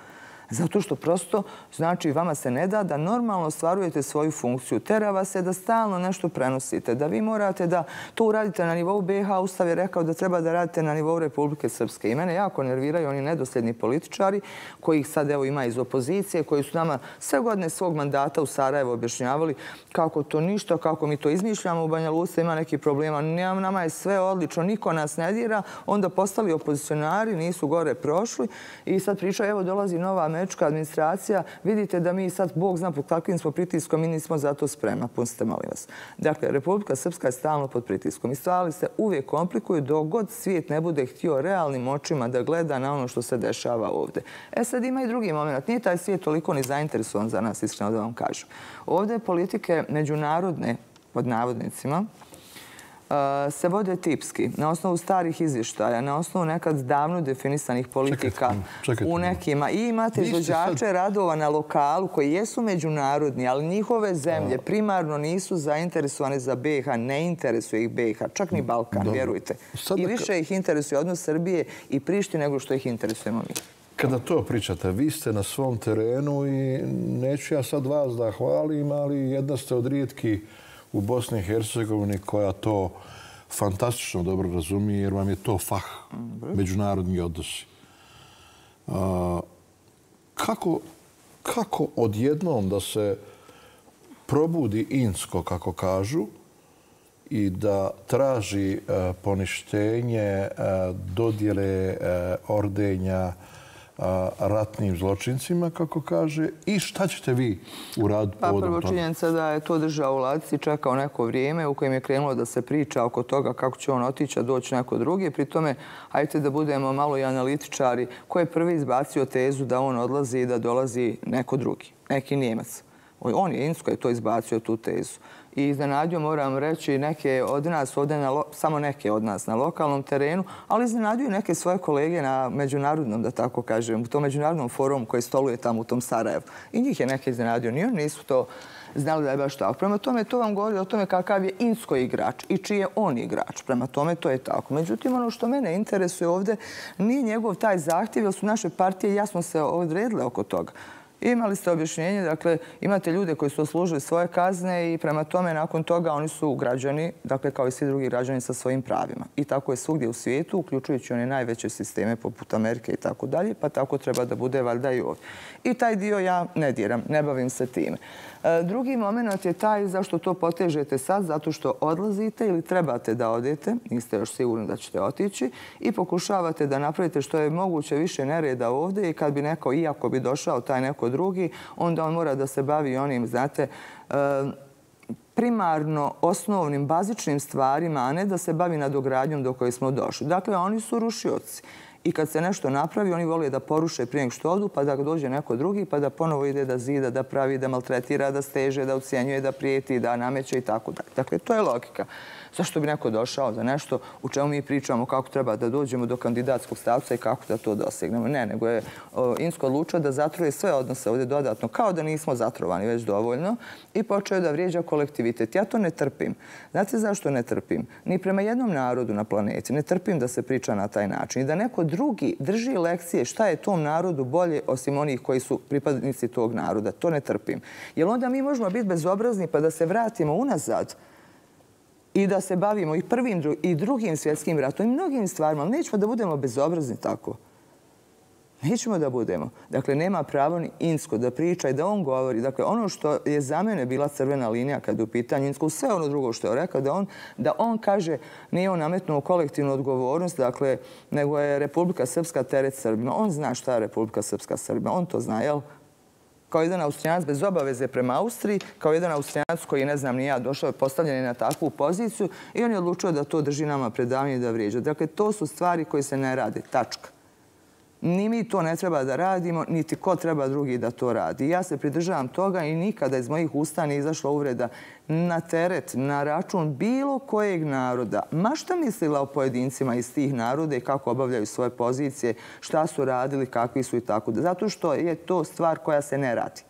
Zato što prosto, znači, vama se ne da da normalno ostvarujete svoju funkciju. Tera vas se da stalno nešto prenosite, da vi morate da to uradite na nivou B iH. Ustav je rekao da treba da radite na nivou Republike Srpske. I mene jako nerviraju oni nedosljedni političari kojih sad evo ima iz opozicije, koji su nama sve godine svog mandata u Sarajevo objašnjavali kako to ništa, kako mi to izmišljamo u Banja Luci, ima neki problema. Nama je sve odlično, niko nas ne dira. Onda postali opozicionari, nisu gore prošli i sad pričaju, evo dolazi nova američka administracija, vidite da mi sad, Bog zna pod kakvim smo pritiskom, mi nismo za to spremna. Pustite, molim vas. Dakle, Republika Srpska je stalno pod pritiskom i stvari se uvijek komplikuju dok god svijet ne bude htio realnim očima da gleda na ono što se dešava ovdje. E sad ima i drugi moment. Nije taj svijet toliko ni zainteresovan za nas, iskreno da vam kažem. Ovdje politike međunarodne, pod navodnicima, se vode tipski, na osnovu starih izvještaja, na osnovu nekad davno definisanih politika u nekima. I imate izvođače radova na lokalu koji jesu međunarodni, ali njihove zemlje primarno nisu zainteresovane za B iH, ne interesuje ih B iH, čak ni Balkan, vjerujte. I više ih interesuje odnos Srbije i Prištine nego što ih interesujemo mi. Kada to pričate, vi ste na svom terenu i neću ja sad vas da hvalim, ali jedna ste od rijetkih u Bosni i Hercegovini koja to fantastično dobro razumije jer vam je to fah, međunarodni odnosi. Kako, kako odjednom da se probudi Insko, kako kažu, i da traži poništenje dodjele ordenja ratnim zločincima, kako kaže, i šta ćete vi uraditi povodom toga? Pa prvo činjenica da je to držao u ladici, čekao neko vrijeme u kojem je krenulo da se priča oko toga kako će on otići, a doći neko drugi. Pri tome, hajte da budemo malo i analitičari, ko je prvi izbacio tezu da on odlazi i da dolazi neko drugi, neki Njemac. On je, Insko je to izbacio, tu tezu. I iznenadio, moram reći, neke od nas, ovdje na, samo neke od nas na lokalnom terenu, ali iznenadio neke svoje kolege na međunarodnom, da tako kažem, u tom međunarodnom forumu koji stoluje tamo u tom Sarajevu. I njih je neke iznenadio. Ni oni nisu to znali da je baš tako. Prema tome, to vam govori o tome kakav je Insko igrač i čiji je on igrač. Prema tome, to je tako. Međutim, ono što mene interesuje ovdje nije njegov taj zahtjev, jer su naše partije jasno se odredile oko toga. Imali ste objašnjenje, dakle, imate ljude koji su oslužili svoje kazne i prema tome nakon toga oni su građani, dakle, kao i svi drugi građani sa svojim pravima. I tako je svugdje u svijetu, uključujući one najveće sisteme poput Amerike i tako dalje, pa tako treba da bude valjda i ovdje. I taj dio ja ne diram, ne bavim se time. Drugi moment je taj zašto to potežete sad, zato što odlazite ili trebate da odete, niste još sigurni da ćete otići, i pokušavate da napravite što je moguće više nereda ovdje i kad bi neko, iako bi došao taj neko drugi, onda on mora da se bavi onim, znate, primarno osnovnim, bazičnim stvarima, a ne da se bavi nadogradnjom do koje smo došli. Dakle, oni su rušioci. I kad se nešto napravi, oni vole da poruše prije nego što odu, pa da dođe neko drugi, pa da ponovo ide da zida, da pravi, da maltretira, da steže, da ucijenjuje, da prijeti, da nameće i tako dalje. Dakle, to je logika. Zašto bi neko došao za nešto u čemu mi pričamo kako treba da dođemo do kandidatskog stavca i kako da to dosegnemo? Ne, nego je Insko odlučio da zatruje sve odnose ovdje dodatno, kao da nismo zatrovani već dovoljno, i počeo da vrijeđa kolektivitet. Ja to ne trpim. Znate zašto ne trpim? Ni prema jednom narodu na planeti ne trpim da se priča na taj način i da neko drugi drži lekcije šta je tom narodu bolje osim onih koji su pripadnici tog naroda. To ne trpim. Jer onda mi možemo biti bezobrazni pa da se vratimo unazad i da se bavimo i prvim i drugim svjetskim ratom i mnogim stvarima, ali nećemo da budemo bezobrazni tako. Nećemo da budemo. Dakle, nema pravo ni Insko da priča i da on govori. Dakle, ono što je za mene bila crvena linija kada je u pitanju Insko, sve ono drugo što je rekao, da on, da on kaže, nije on nametnuo kolektivnu odgovornost, dakle, nego je Republika Srpska teret Srbima. On zna šta je Republika Srpska Srbima. On to zna, jel? Kao jedan Austrijanac bez obaveze prema Austriji, kao jedan Austrijanac koji, ne znam ni ja, došao je postavljen na takvu poziciju i on je odlučio da to drži nama predavanje i da vrijeđa. Dakle, to su stvari koje se ne rade. Tačka. Ni mi to ne treba da radimo, niti ko treba drugi da to radi. Ja se pridržavam toga i nikada iz mojih usta nije izašla uvreda na teret, na račun bilo kojeg naroda. Ma šta mislila o pojedincima iz tih naroda i kako obavljaju svoje pozicije, šta su radili, kakvi su i tako. Zato što je to stvar koja se ne radi.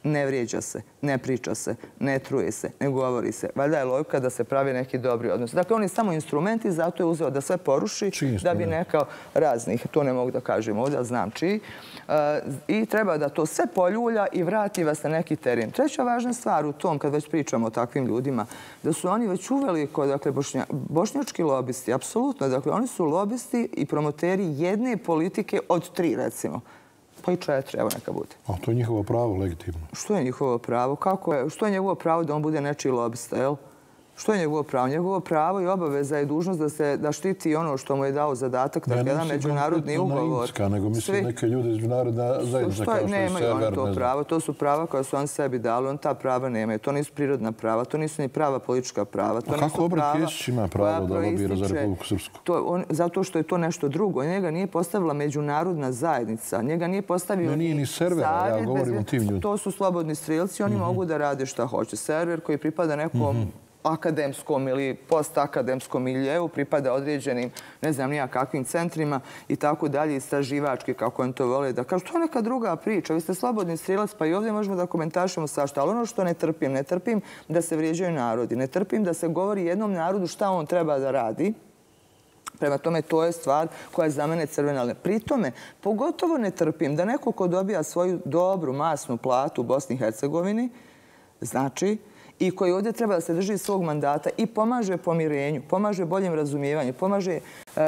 Ne vrijeđa se, ne priča se, ne truje se, ne govori se. Valjda je logika da se pravi neki dobri odnos. Dakle, on je samo instrumenti, zato je uzeo da sve poruši, da bi nekao raznih, to ne mogu da kažem ovdje, znam čiji, i treba da to sve poljulja i vrati vas na neki teren. Treća važna stvar u tom, kad već pričamo o takvim ljudima, da su oni već uveli kod, dakle, bošnja, bošnjački lobisti, apsolutno, dakle, oni su lobisti i promoteri jedne politike od tri, recimo. Pa i četiri, evo neka bude. A to je njihovo pravo, legitimno. Što je njihovo pravo? Kako je? Što je njegovo pravo da on bude nečiji lobista, jel? Što je njegovo pravo? Njegovo pravo i obaveza je dužnost da se da štiti ono što mu je dao zadatak, dakle, jedan međunarodni ugovor. Ne, nego mislim neke ljude iz međunarodna zajednica kao što je Sever. Nemaju oni to pravo. To su prava koja su on sebi dali. On ta prava nemaju. To nisu prirodna prava. To nisu ni prava politička prava. A kako Obrat Kesić ima pravo da lobira za Republiku Srpsku? Zato što je to nešto drugo. Njega nije postavila međunarodna zajednica. Njega nije postavio ni ni server. Ja govorim o tim ljudima. To su slobodni strelci. Oni mogu da rade šta hoće. Server koji pripada nekom akademskom ili postakademskom miljeu, pripada određenim, ne znam nija kakvim centrima i tako dalje, istraživački, kako on to vole da kažu. To je neka druga priča. Vi ste slobodni strelac, pa i ovdje možemo da komentarišemo svašta. Ali ono što ne trpim, ne trpim da se vrijeđaju narodi. Ne trpim da se govori jednom narodu šta on treba da radi. Prema tome, to je stvar koja je za mene crvena. Pri tome, pogotovo ne trpim da neko ko dobija svoju dobru, masnu platu u Bosni i Hercegovini, znači, i koji ovdje treba da se drži svog mandata i pomaže pomirenju, pomaže boljem razumijevanju, pomaže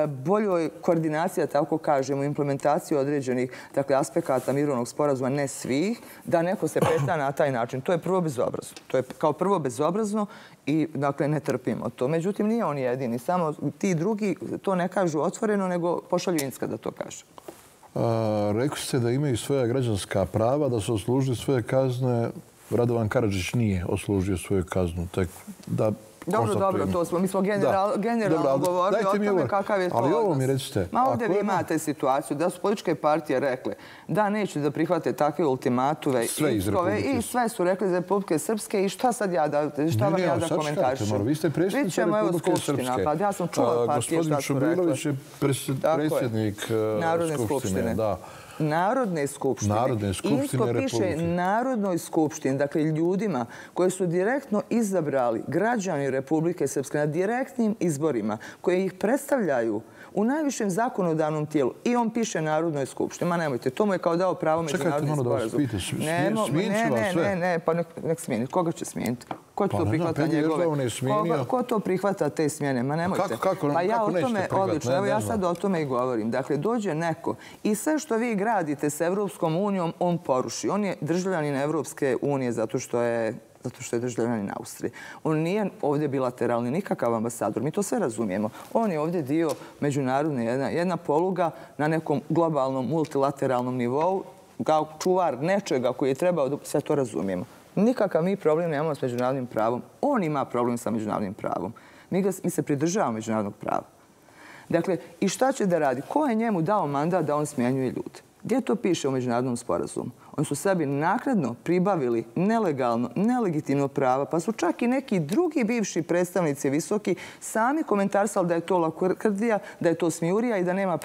boljoj koordinaciji, tako kažemo, implementaciji određenih aspekata mirovnog sporazuma, ne svih, da neko se peta na taj način. To je prvo bezobrazno. To je kao prvo bezobrazno i, dakle, ne trpimo to. Međutim, nije on jedini. Samo ti drugi to ne kažu otvoreno, nego pošalju Inska da to kaže. Rekli ste da imaju svoja građanska prava, da su oslužili svoje kazne. Radovan Karadžić nije oslužio svoju kaznu. Da Dobro, dobro, to smo. Mi smo generalno govorili o tome kakav je to odnos. Ali ovo mi recite. Ma ovdje vi imate situaciju da su političke partije rekle da neće da prihvate takve ultimatume i sve su rekli za Republike Srpske i šta sad ja da, šta vam ja da komentarišem? Vi ste predsjednica Republike Srpske. Pa ja sam čula partije šta su rekle. Gospodin Čubilović je predsjednik Skupštine. Narodne skupštine. Narodne skupštine Insko piše Narodnoj skupštini, dakle ljudima koji su direktno izabrali građani Republike Srpske na direktnim izborima, koji ih predstavljaju u najvišem zakonodavnom tijelu. I on piše Narodnoj skupštini. Ma nemojte, to mu je kao dao pravo međunarodni sporazum. Čekajte, malo da vas pita, smijenit ću vas sve. Ne, ne, ne, pa nek smijeniti. Koga će smijeniti? Ko to prihvata njegove? Ko to prihvata te smjene? Ma nemojte. Pa ja o tome odlično, evo ja sad o tome i govorim. Dakle, dođe neko i sve što vi gradite s Evropskom unijom, on poruši. On je državljanin Evropske unije zato što je zato što je državljanin Austrije. On nije ovdje bilateralni nikakav ambasador. Mi to sve razumijemo. On je ovdje dio međunarodne, jedna poluga na nekom globalnom, multilateralnom nivou, kao čuvar nečega koji je trebao da sve to razumijemo. Nikakav mi problem nemamo s međunarodnim pravom. On ima problem sa međunarodnim pravom. Mi se pridržavamo međunarodnog prava. Dakle, i šta će da radi? Ko je njemu dao mandat da on smjenjuje ljude? Gdje to piše u međunarodnom sporazumu? Oni su sebi naknadno pribavili nelegalno, nelegitimno prava, pa su čak i neki drugi bivši predstavnici visoki sami komentarisali da je to lakrdija, da je to smijurija i da nema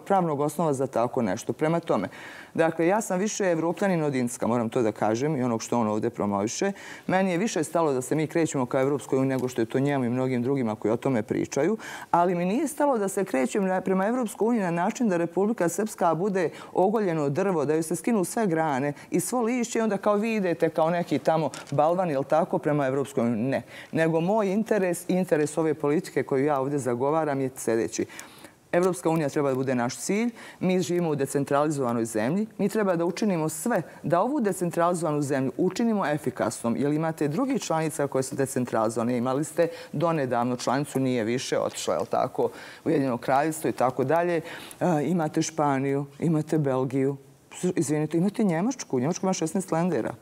pravnog osnova za tako nešto. Prema tome, dakle, ja sam više evropljanin od Inska, moram to da kažem, i onog što on ovdje promoviše. Meni je više stalo da se mi krećemo ka Evropskoj uniji nego što je to njemu i mnogim drugima koji o tome pričaju, ali mi nije stalo da se krećem prema Evropskoj uniji na način da Republika Srpska bude ogoljeno drvo, da joj se skinu sve grane i svo lišće i onda kao vi idete kao neki tamo balvan ili tako prema Evropskoj uniji. Ne. Nego moj interes i interes ove politike koju ja ovdje zagovaram je sljedeći. Evropska unija treba da bude naš cilj. Mi živimo u decentralizovanoj zemlji. Mi treba da učinimo sve da ovu decentralizovanu zemlju učinimo efikasnom. Jer imate drugih članica koje su decentralizovane. Imali ste donedavno članicu, nije više, otišla je tako Ujedinjeno kraljevstvo i tako dalje. Imate Španiju, imate Belgiju. Izvinite, imate Njemačku. Njemačka ima šesnaest lendera.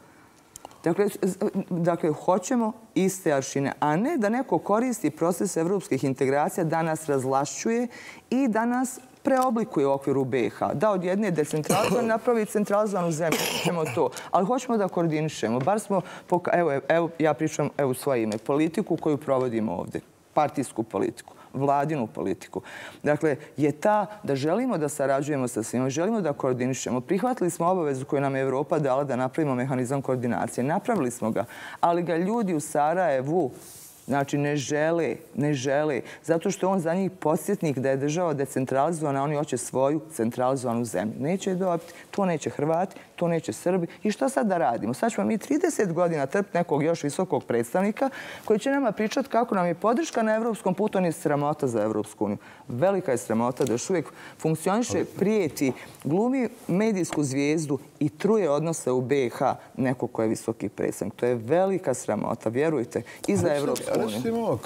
Dakle, hoćemo iste aršine, a ne da neko koristi proces evropskih integracija, da nas razlašćuje i da nas preoblikuje u okviru B iH. Da od jedne decentralizovane napravi centralizovanu zemlju. Hoćemo to. Ali hoćemo da koordinišemo. Bar smo, evo, ja pričam u svoje ime, politiku koju provodimo ovdje. Partijsku politiku. Vladinu politiku. Dakle, je ta da želimo da sarađujemo sa svima, želimo da koordinišemo. Prihvatili smo obavezu koju nam je Evropa dala da napravimo mehanizam koordinacije. Napravili smo ga, ali ga ljudi u Sarajevu znači ne žele, ne žele, zato što je on za njih podsjetnik da je država decentralizovana, oni hoće svoju centralizovanu zemlju. Neće je dobiti, to neće Hrvati, to neće Srbi. I što sad da radimo? Sad ćemo mi trideset godina trpiti nekog još visokog predstavnika koji će nama pričati kako nam je podrška na evropskom putu, on je sramota za Evropsku uniju. Velika je sramota da još uvijek funkcioniše, prijeti, glumi medijsku zvijezdu i truje odnose u B iH neko ko je visoki predstavnik. To je velika sramota, vjerujte, i za Evropsku uniju. Recimo,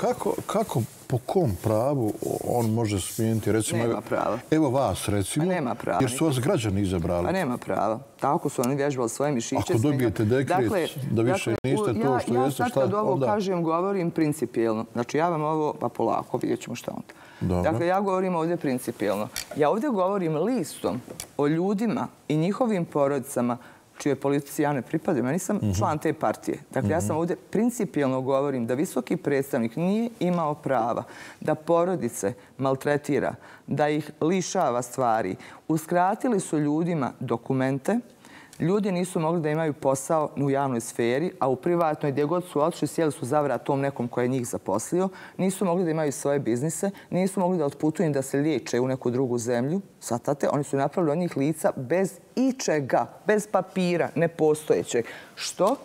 kako, po kom pravu on može smijeniti? Nema prava. Evo vas, recimo, jer su vas građani izabrali. Pa nema prava. Tako su oni vježbali svoje mišiće. Ako dobijete dekret da više niste to što jeste, šta onda? Ja sad kad ovo kažem, govorim principijelno. Znači, ja vam ovo, pa polako, vidjet ćemo šta onda. Dakle, ja govorim ovdje principijelno. Ja ovdje govorim listom o ljudima i njihovim porodicama čije politici ja ne pripadam. Ja nisam član te partije. Dakle, ja sam ovdje principijelno govorim da visoki predstavnik nije imao prava da porodice maltretira, da ih lišava stvari. Uskratili su ljudima dokumente. Ljudi nisu mogli da imaju posao u javnoj sferi, a u privatnoj, gdje god su otišli, sjeli su za vrat tom nekom koji je njih zaposlio. Nisu mogli da imaju svoje biznise, nisu mogli da otputuju da se liječe u neku drugu zemlju. Svatate, oni su napravili od njih lica bez ičega, bez papira, nepostojećeg. Što?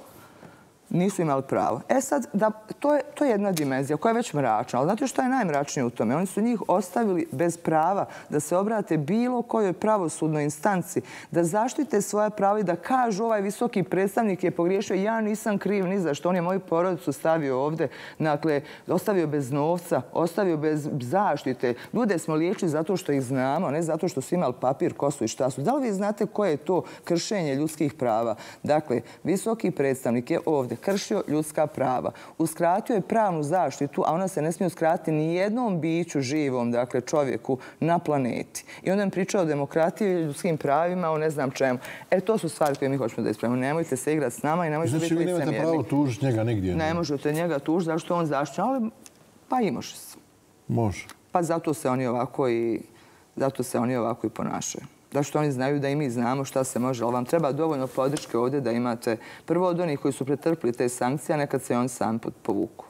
nisu imali pravo. E sad, da, to, je, to je jedna dimenzija koja je već mračna, ali znate što je najmračnije u tome? Oni su njih ostavili bez prava da se obrate bilo kojoj pravosudnoj instanci, da zaštite svoja prava i da kažu ovaj visoki predstavnik je pogriješio, ja nisam kriv ni za što, on je moju porodicu stavio ovdje, dakle, ostavio bez novca, ostavio bez zaštite. Ljude smo liječili zato što ih znamo, ne zato što su imali papir, kosu i šta su. Da li vi znate koje je to kršenje ljudskih prava? Dakle, visoki predstavnik je ovdje kršio ljudska prava, uskratio je pravnu zaštitu, a ona se ne smije uskratiti ni jednom biću živom, dakle čovjeku na planeti. I onda nam pričao o demokratiji, ljudskim pravima, o ne znam čemu. E, to su stvari koje mi hoćemo da ispravimo. Nemojte se igrati s nama i nemojte biti licemjerni. Znači, vi nemate pravo tužiti njega nigdje? Ne možete njega tužiti, zato što on zaštićen, ali pa i može se. Može. Pa zato se oni ovako i, zato se oni ovako i ponašaju. Da što oni znaju da i mi znamo šta se može, ali vam treba dovoljno podrške ovdje da imate prvo od onih koji su pretrpili te sankcije, a nekad se on sam povuku.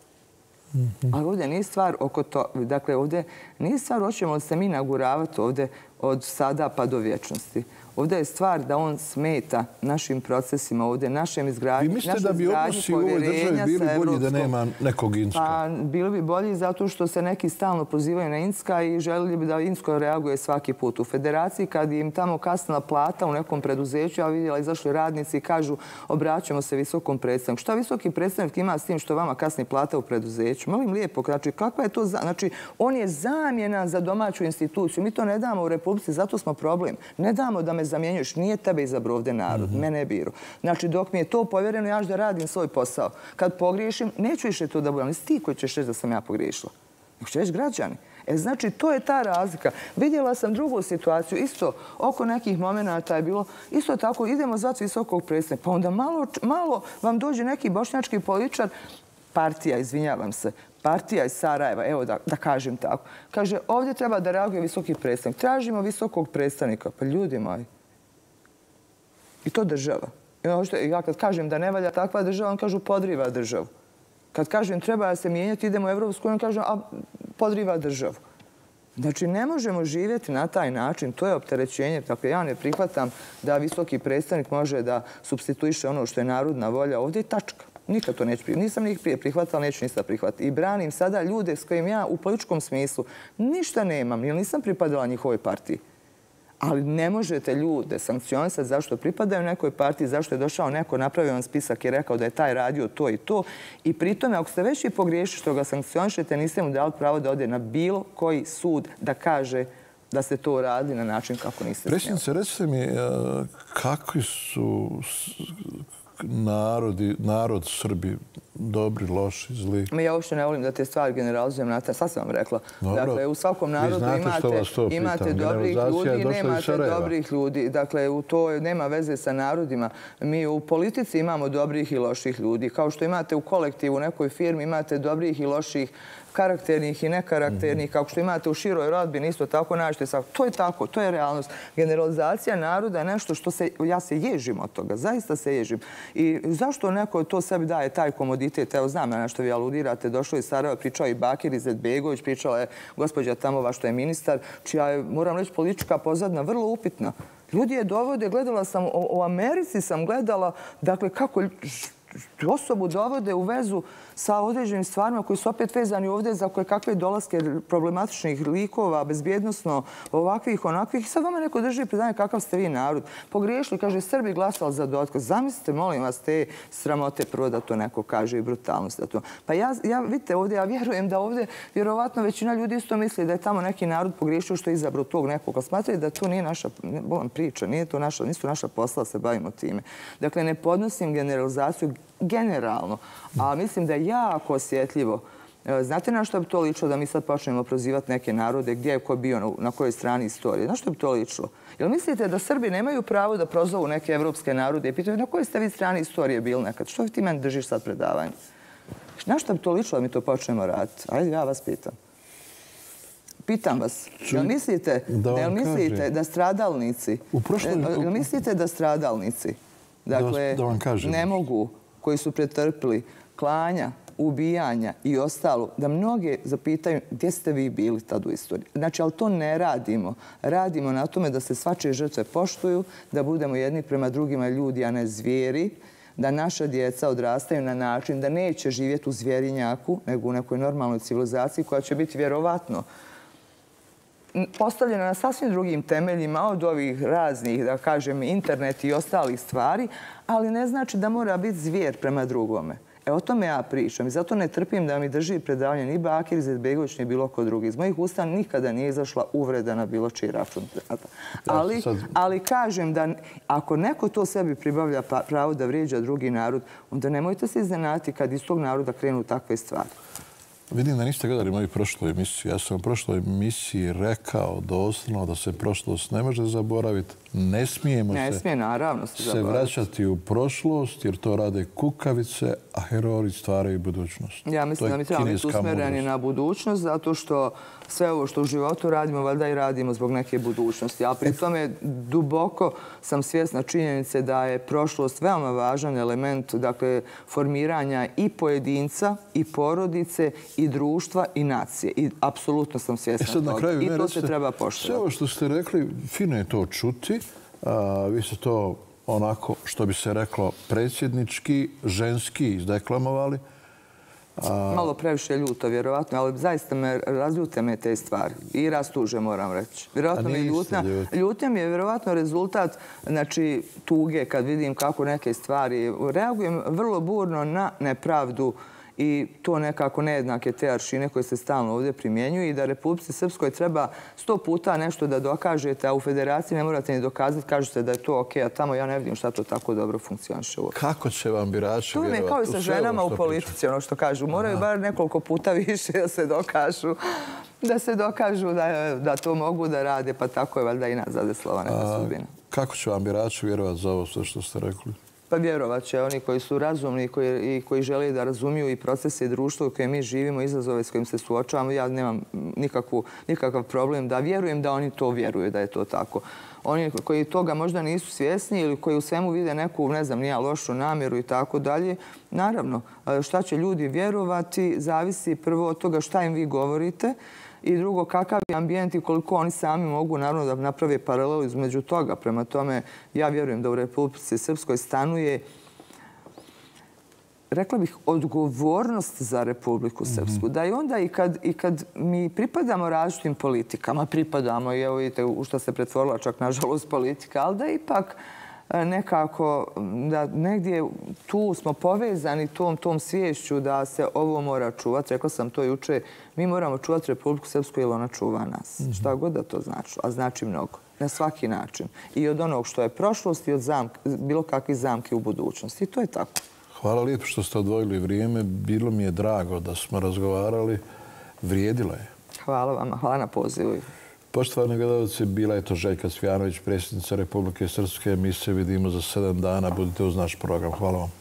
Mm-hmm. Ali ovdje nije stvar oko to, dakle ovdje nije stvar hoćemo se mi naguravati ovdje od sada pa do vječnosti. Ovdje je stvar da on smeta našim procesima ovdje, našem izgradnji. Vi mislite da bi odnosi u ovoj državi bili bolji da nema nekog Inska? Pa, bili bi bolji zato što se neki stalno pozivaju na Inska i želili bi da Insko reaguje svaki put. U federaciji kad im tamo kasnila plata u nekom preduzeću, ja vidjela izašli radnici i kažu obraćamo se visokom predstavniku. Šta visoki predstavnik ima s tim što vama kasni plata u preduzeću? Molim lijepo, znači kakva je to... Znači, on je zamjena za domaću instituciju. Mi to ne damo u Republici, zato smo problem. Ne damo da me zamjenjuješ. Nije tebe izabrao ovdje narod, mm-hmm. mene je biro. Znači, dok mi je to povjereno, ja ću da radim svoj posao. Kad pogriješim, neću više to da budem. Nisi ti koji ćeš reći da sam ja pogriješila. Nego će reći građani. E, znači, to je ta razlika. Vidjela sam drugu situaciju, isto oko nekih momenata je bilo, isto tako, idemo zvati visokog predstavnika. Pa onda malo, malo vam dođe neki bošnjački političar, partija, izvinjavam se, partija iz Sarajeva, evo da, da kažem tako. Kaže, ovdje treba da reaguje visoki predstavnik. Tražimo visokog predstavnika. Pa ljudi moji. I to država. I ja kad kažem da ne valja takva država, on kažu podriva državu. Kad kažem treba da se mijenjati, idemo u Evropsku, on kaže a podriva državu. Znači, ne možemo živjeti na taj način. To je opterećenje. Dakle, ja ne prihvatam da visoki predstavnik može da supstituiše ono što je narodna volja. Ovdje je tačka. Nikad to neću prihvatiti. Nisam njih prije prihvatala, neću ništa prihvatiti. I branim sada ljude s kojim ja u političkom smislu ništa nemam, jer nisam pripadala njihovoj partiji. Ali ne možete ljude sankcionisati zašto pripadaju nekoj partiji, zašto je došao neko, napravio vam spisak i rekao da je taj radio to i to. I pri tome, ako ste već i pogriješili što ga sankcionišete, niste mu dali pravo da ode na bilo koji sud da kaže da ste to uradili na način kako niste smjeli. Predsjednice, recite mi, kakvi su narodi, narod Srbi, dobri, loši, zli? Ja uopšte ne volim da te stvari generalizujem na taj, sad sam vam rekla. Dakle, u svakom narodu imate, imate dobrih ljudi i nemate dobrih ljudi. Dakle, u to nema veze sa narodima. Mi u politici imamo dobrih i loših ljudi. Kao što imate u kolektivu, u nekoj firmi imate dobrih i loših, karakternih i nekarakternih, kako što imate u široj rodbini, isto tako nađete. To je tako, to je realnost. Generalizacija naroda je nešto što se, ja se ježim od toga, zaista se ježim. I zašto neko to sebi daje taj komoditet? Evo, znam na što vi aludirate, došlo iz Sarajeva, pričao i Bakir Izetbegović, pričala je gospođa Tamova što je ministar, čija je, moram reći, politička pozadina vrlo upitna. Ljudi je dovode, gledala sam, u Americi sam gledala, dakle, kako osobu dovode u vezu sa određenim stvarima koji su opet vezani ovdje za koje kakve dolaske problematičnih likova, bezbjednostno, ovakvih, onakvih. I sad vama neko drži predanje kakav ste vi narod. Pogriješili, kaže, Srbi glasali za Dodika. Zamislite, molim vas, te sramote prvo da to neko kaže i brutalnost. Da to. Pa ja, ja, vidite, ovdje, ja vjerujem da ovdje vjerovatno većina ljudi isto misli da je tamo neki narod pogriješio što je izabrao tog nekog. Ali smatraju da to nije naša bolan priča, nije to naša, nisu naša posla da se bavimo time. Dakle, ne podnosim generalizaciju generalno, a mislim da je jako osjetljivo. Znate na što bi to ličilo da mi sad počnemo prozivati neke narode, gdje je ko bio, na kojoj strani istorije? Na što bi to ličilo? Jel mislite da Srbi nemaju pravo da prozovu neke evropske narode i pitaju na kojoj ste vi strani istorije bili nekad? Što ti meni držiš sad predavanje? Na što bi to ličilo da mi to počnemo raditi? Ajde, ja vas pitam. Pitam vas, jel mislite, jel mislite da stradalnici, jel mislite da stradalnici, dakle, ne mogu, koji su pretrpili klanja, ubijanja i ostalo, da mnoge zapitaju gdje ste vi bili tad u istoriji. Znači, ali to ne radimo. Radimo na tome da se svačije žrtve poštuju, da budemo jedni prema drugima ljudi, a ne zvijeri, da naša djeca odrastaju na način da neće živjeti u zvjerinjaku, nego u nekoj normalnoj civilizaciji koja će biti vjerovatno postavljena na sasvim drugim temeljima od ovih raznih, da kažem, internet i ostalih stvari, ali ne znači da mora biti zvijer prema drugome. E, o tome ja pričam i zato ne trpim da mi drži predavanje ni Bakir Izetbegović ni bilo ko drugi. Iz mojih usta nikada nije izašla uvreda na bilo čiji račun. Ali, ali kažem da ako neko to sebi pribavlja pravo da vrijeđa drugi narod, onda nemojte se iznenaditi kad iz tog naroda krenu takve stvari. Vidim da niste gledali moju prošlu emisiju. Ja sam u prošloj emisiji rekao doslovno da se prošlost ne može zaboraviti. Ne smijemo ne se, smije, naravno, se, se vraćati u prošlost jer to rade kukavice, a heroji stvaraju budućnost. Ja mislim da mi trebamo biti usmjereni na budućnost zato što sve ovo što u životu radimo, valjda i radimo zbog neke budućnosti. A pri tome duboko sam svjesna činjenice da je prošlost veoma važan element, dakle, formiranja i pojedinca, i porodice, i društva, i nacije. I apsolutno sam svjesna e sad, toga. Na kraju, I to recite, se treba poštovati. Sve ovo što ste rekli, fino je to čuti. A, vi ste to onako, što bi se reklo, predsjednički, ženski izdeklamovali. A... Malo previše ljuto, vjerovatno, ali zaista me razljute me te stvari. I rastuže, moram reći. Vjerovatno mi je ljutna. Ljutnja mi je vjerovatno rezultat, znači, tuge kad vidim kako neke stvari. Reagujem vrlo burno na nepravdu i to nekako nejednake te aršine koje se stalno ovdje primjenjuju i da Republici Srpskoj treba sto puta nešto da dokažete, a u federaciji ne morate ni dokazati, kažete da je to okej, a tamo ja ne vidim šta to tako dobro funkcioniše. Kako će vam birači vjerovati? To mi je kao i sa ženama u politici, ono što kažu. Moraju bar nekoliko puta više da se dokažu, da se dokažu da to mogu da rade, pa tako je valjda i nas zadeslova neka sudbina. Kako će vam birači vjerovati za ovo sve što ste rekli? Pa vjerovat će oni koji su razumni i koji žele da razumiju i procese i društvo u kojem mi živimo, izazove s kojim se suočavamo. Ja nemam nikakav problem da vjerujem da oni to vjeruju, da je to tako. Oni koji toga možda nisu svjesni ili koji u svemu vide neku, ne znam, nija lošu namjeru i tako dalje, naravno, šta će ljudi vjerovati zavisi prvo od toga šta im vi govorite i drugo, kakav je ambijent i koliko oni sami mogu naravno da naprave paralelu između toga. Prema tome, ja vjerujem da u Republici Srpskoj stanuje, rekla bih, odgovornost za Republiku Srpsku. Da i onda i kad, i kad mi pripadamo različitim politikama, pripadamo i evo vidite u što se pretvorila čak nažalost politika, ali da ipak nekako da negdje tu smo povezani tom, tom sviješću da se ovo mora čuvati. Rekla sam to juče, mi moramo čuvati Republiku Srpsku jer ona čuva nas. Mm-hmm. Šta god da to znači, a znači mnogo. Na svaki način. I od onog što je prošlost i od zamk, bilo kakvih zamki u budućnosti. I to je tako. Hvala lijepo što ste odvojili vrijeme. Bilo mi je drago da smo razgovarali. Vrijedilo je. Hvala vama. Hvala na pozivu. Poštovani gledalci, bila je to Željka Cvijanović, predsjednica Republike Srpske. Mi se vidimo za sedam dana. Budite uz naš program. Hvala vam.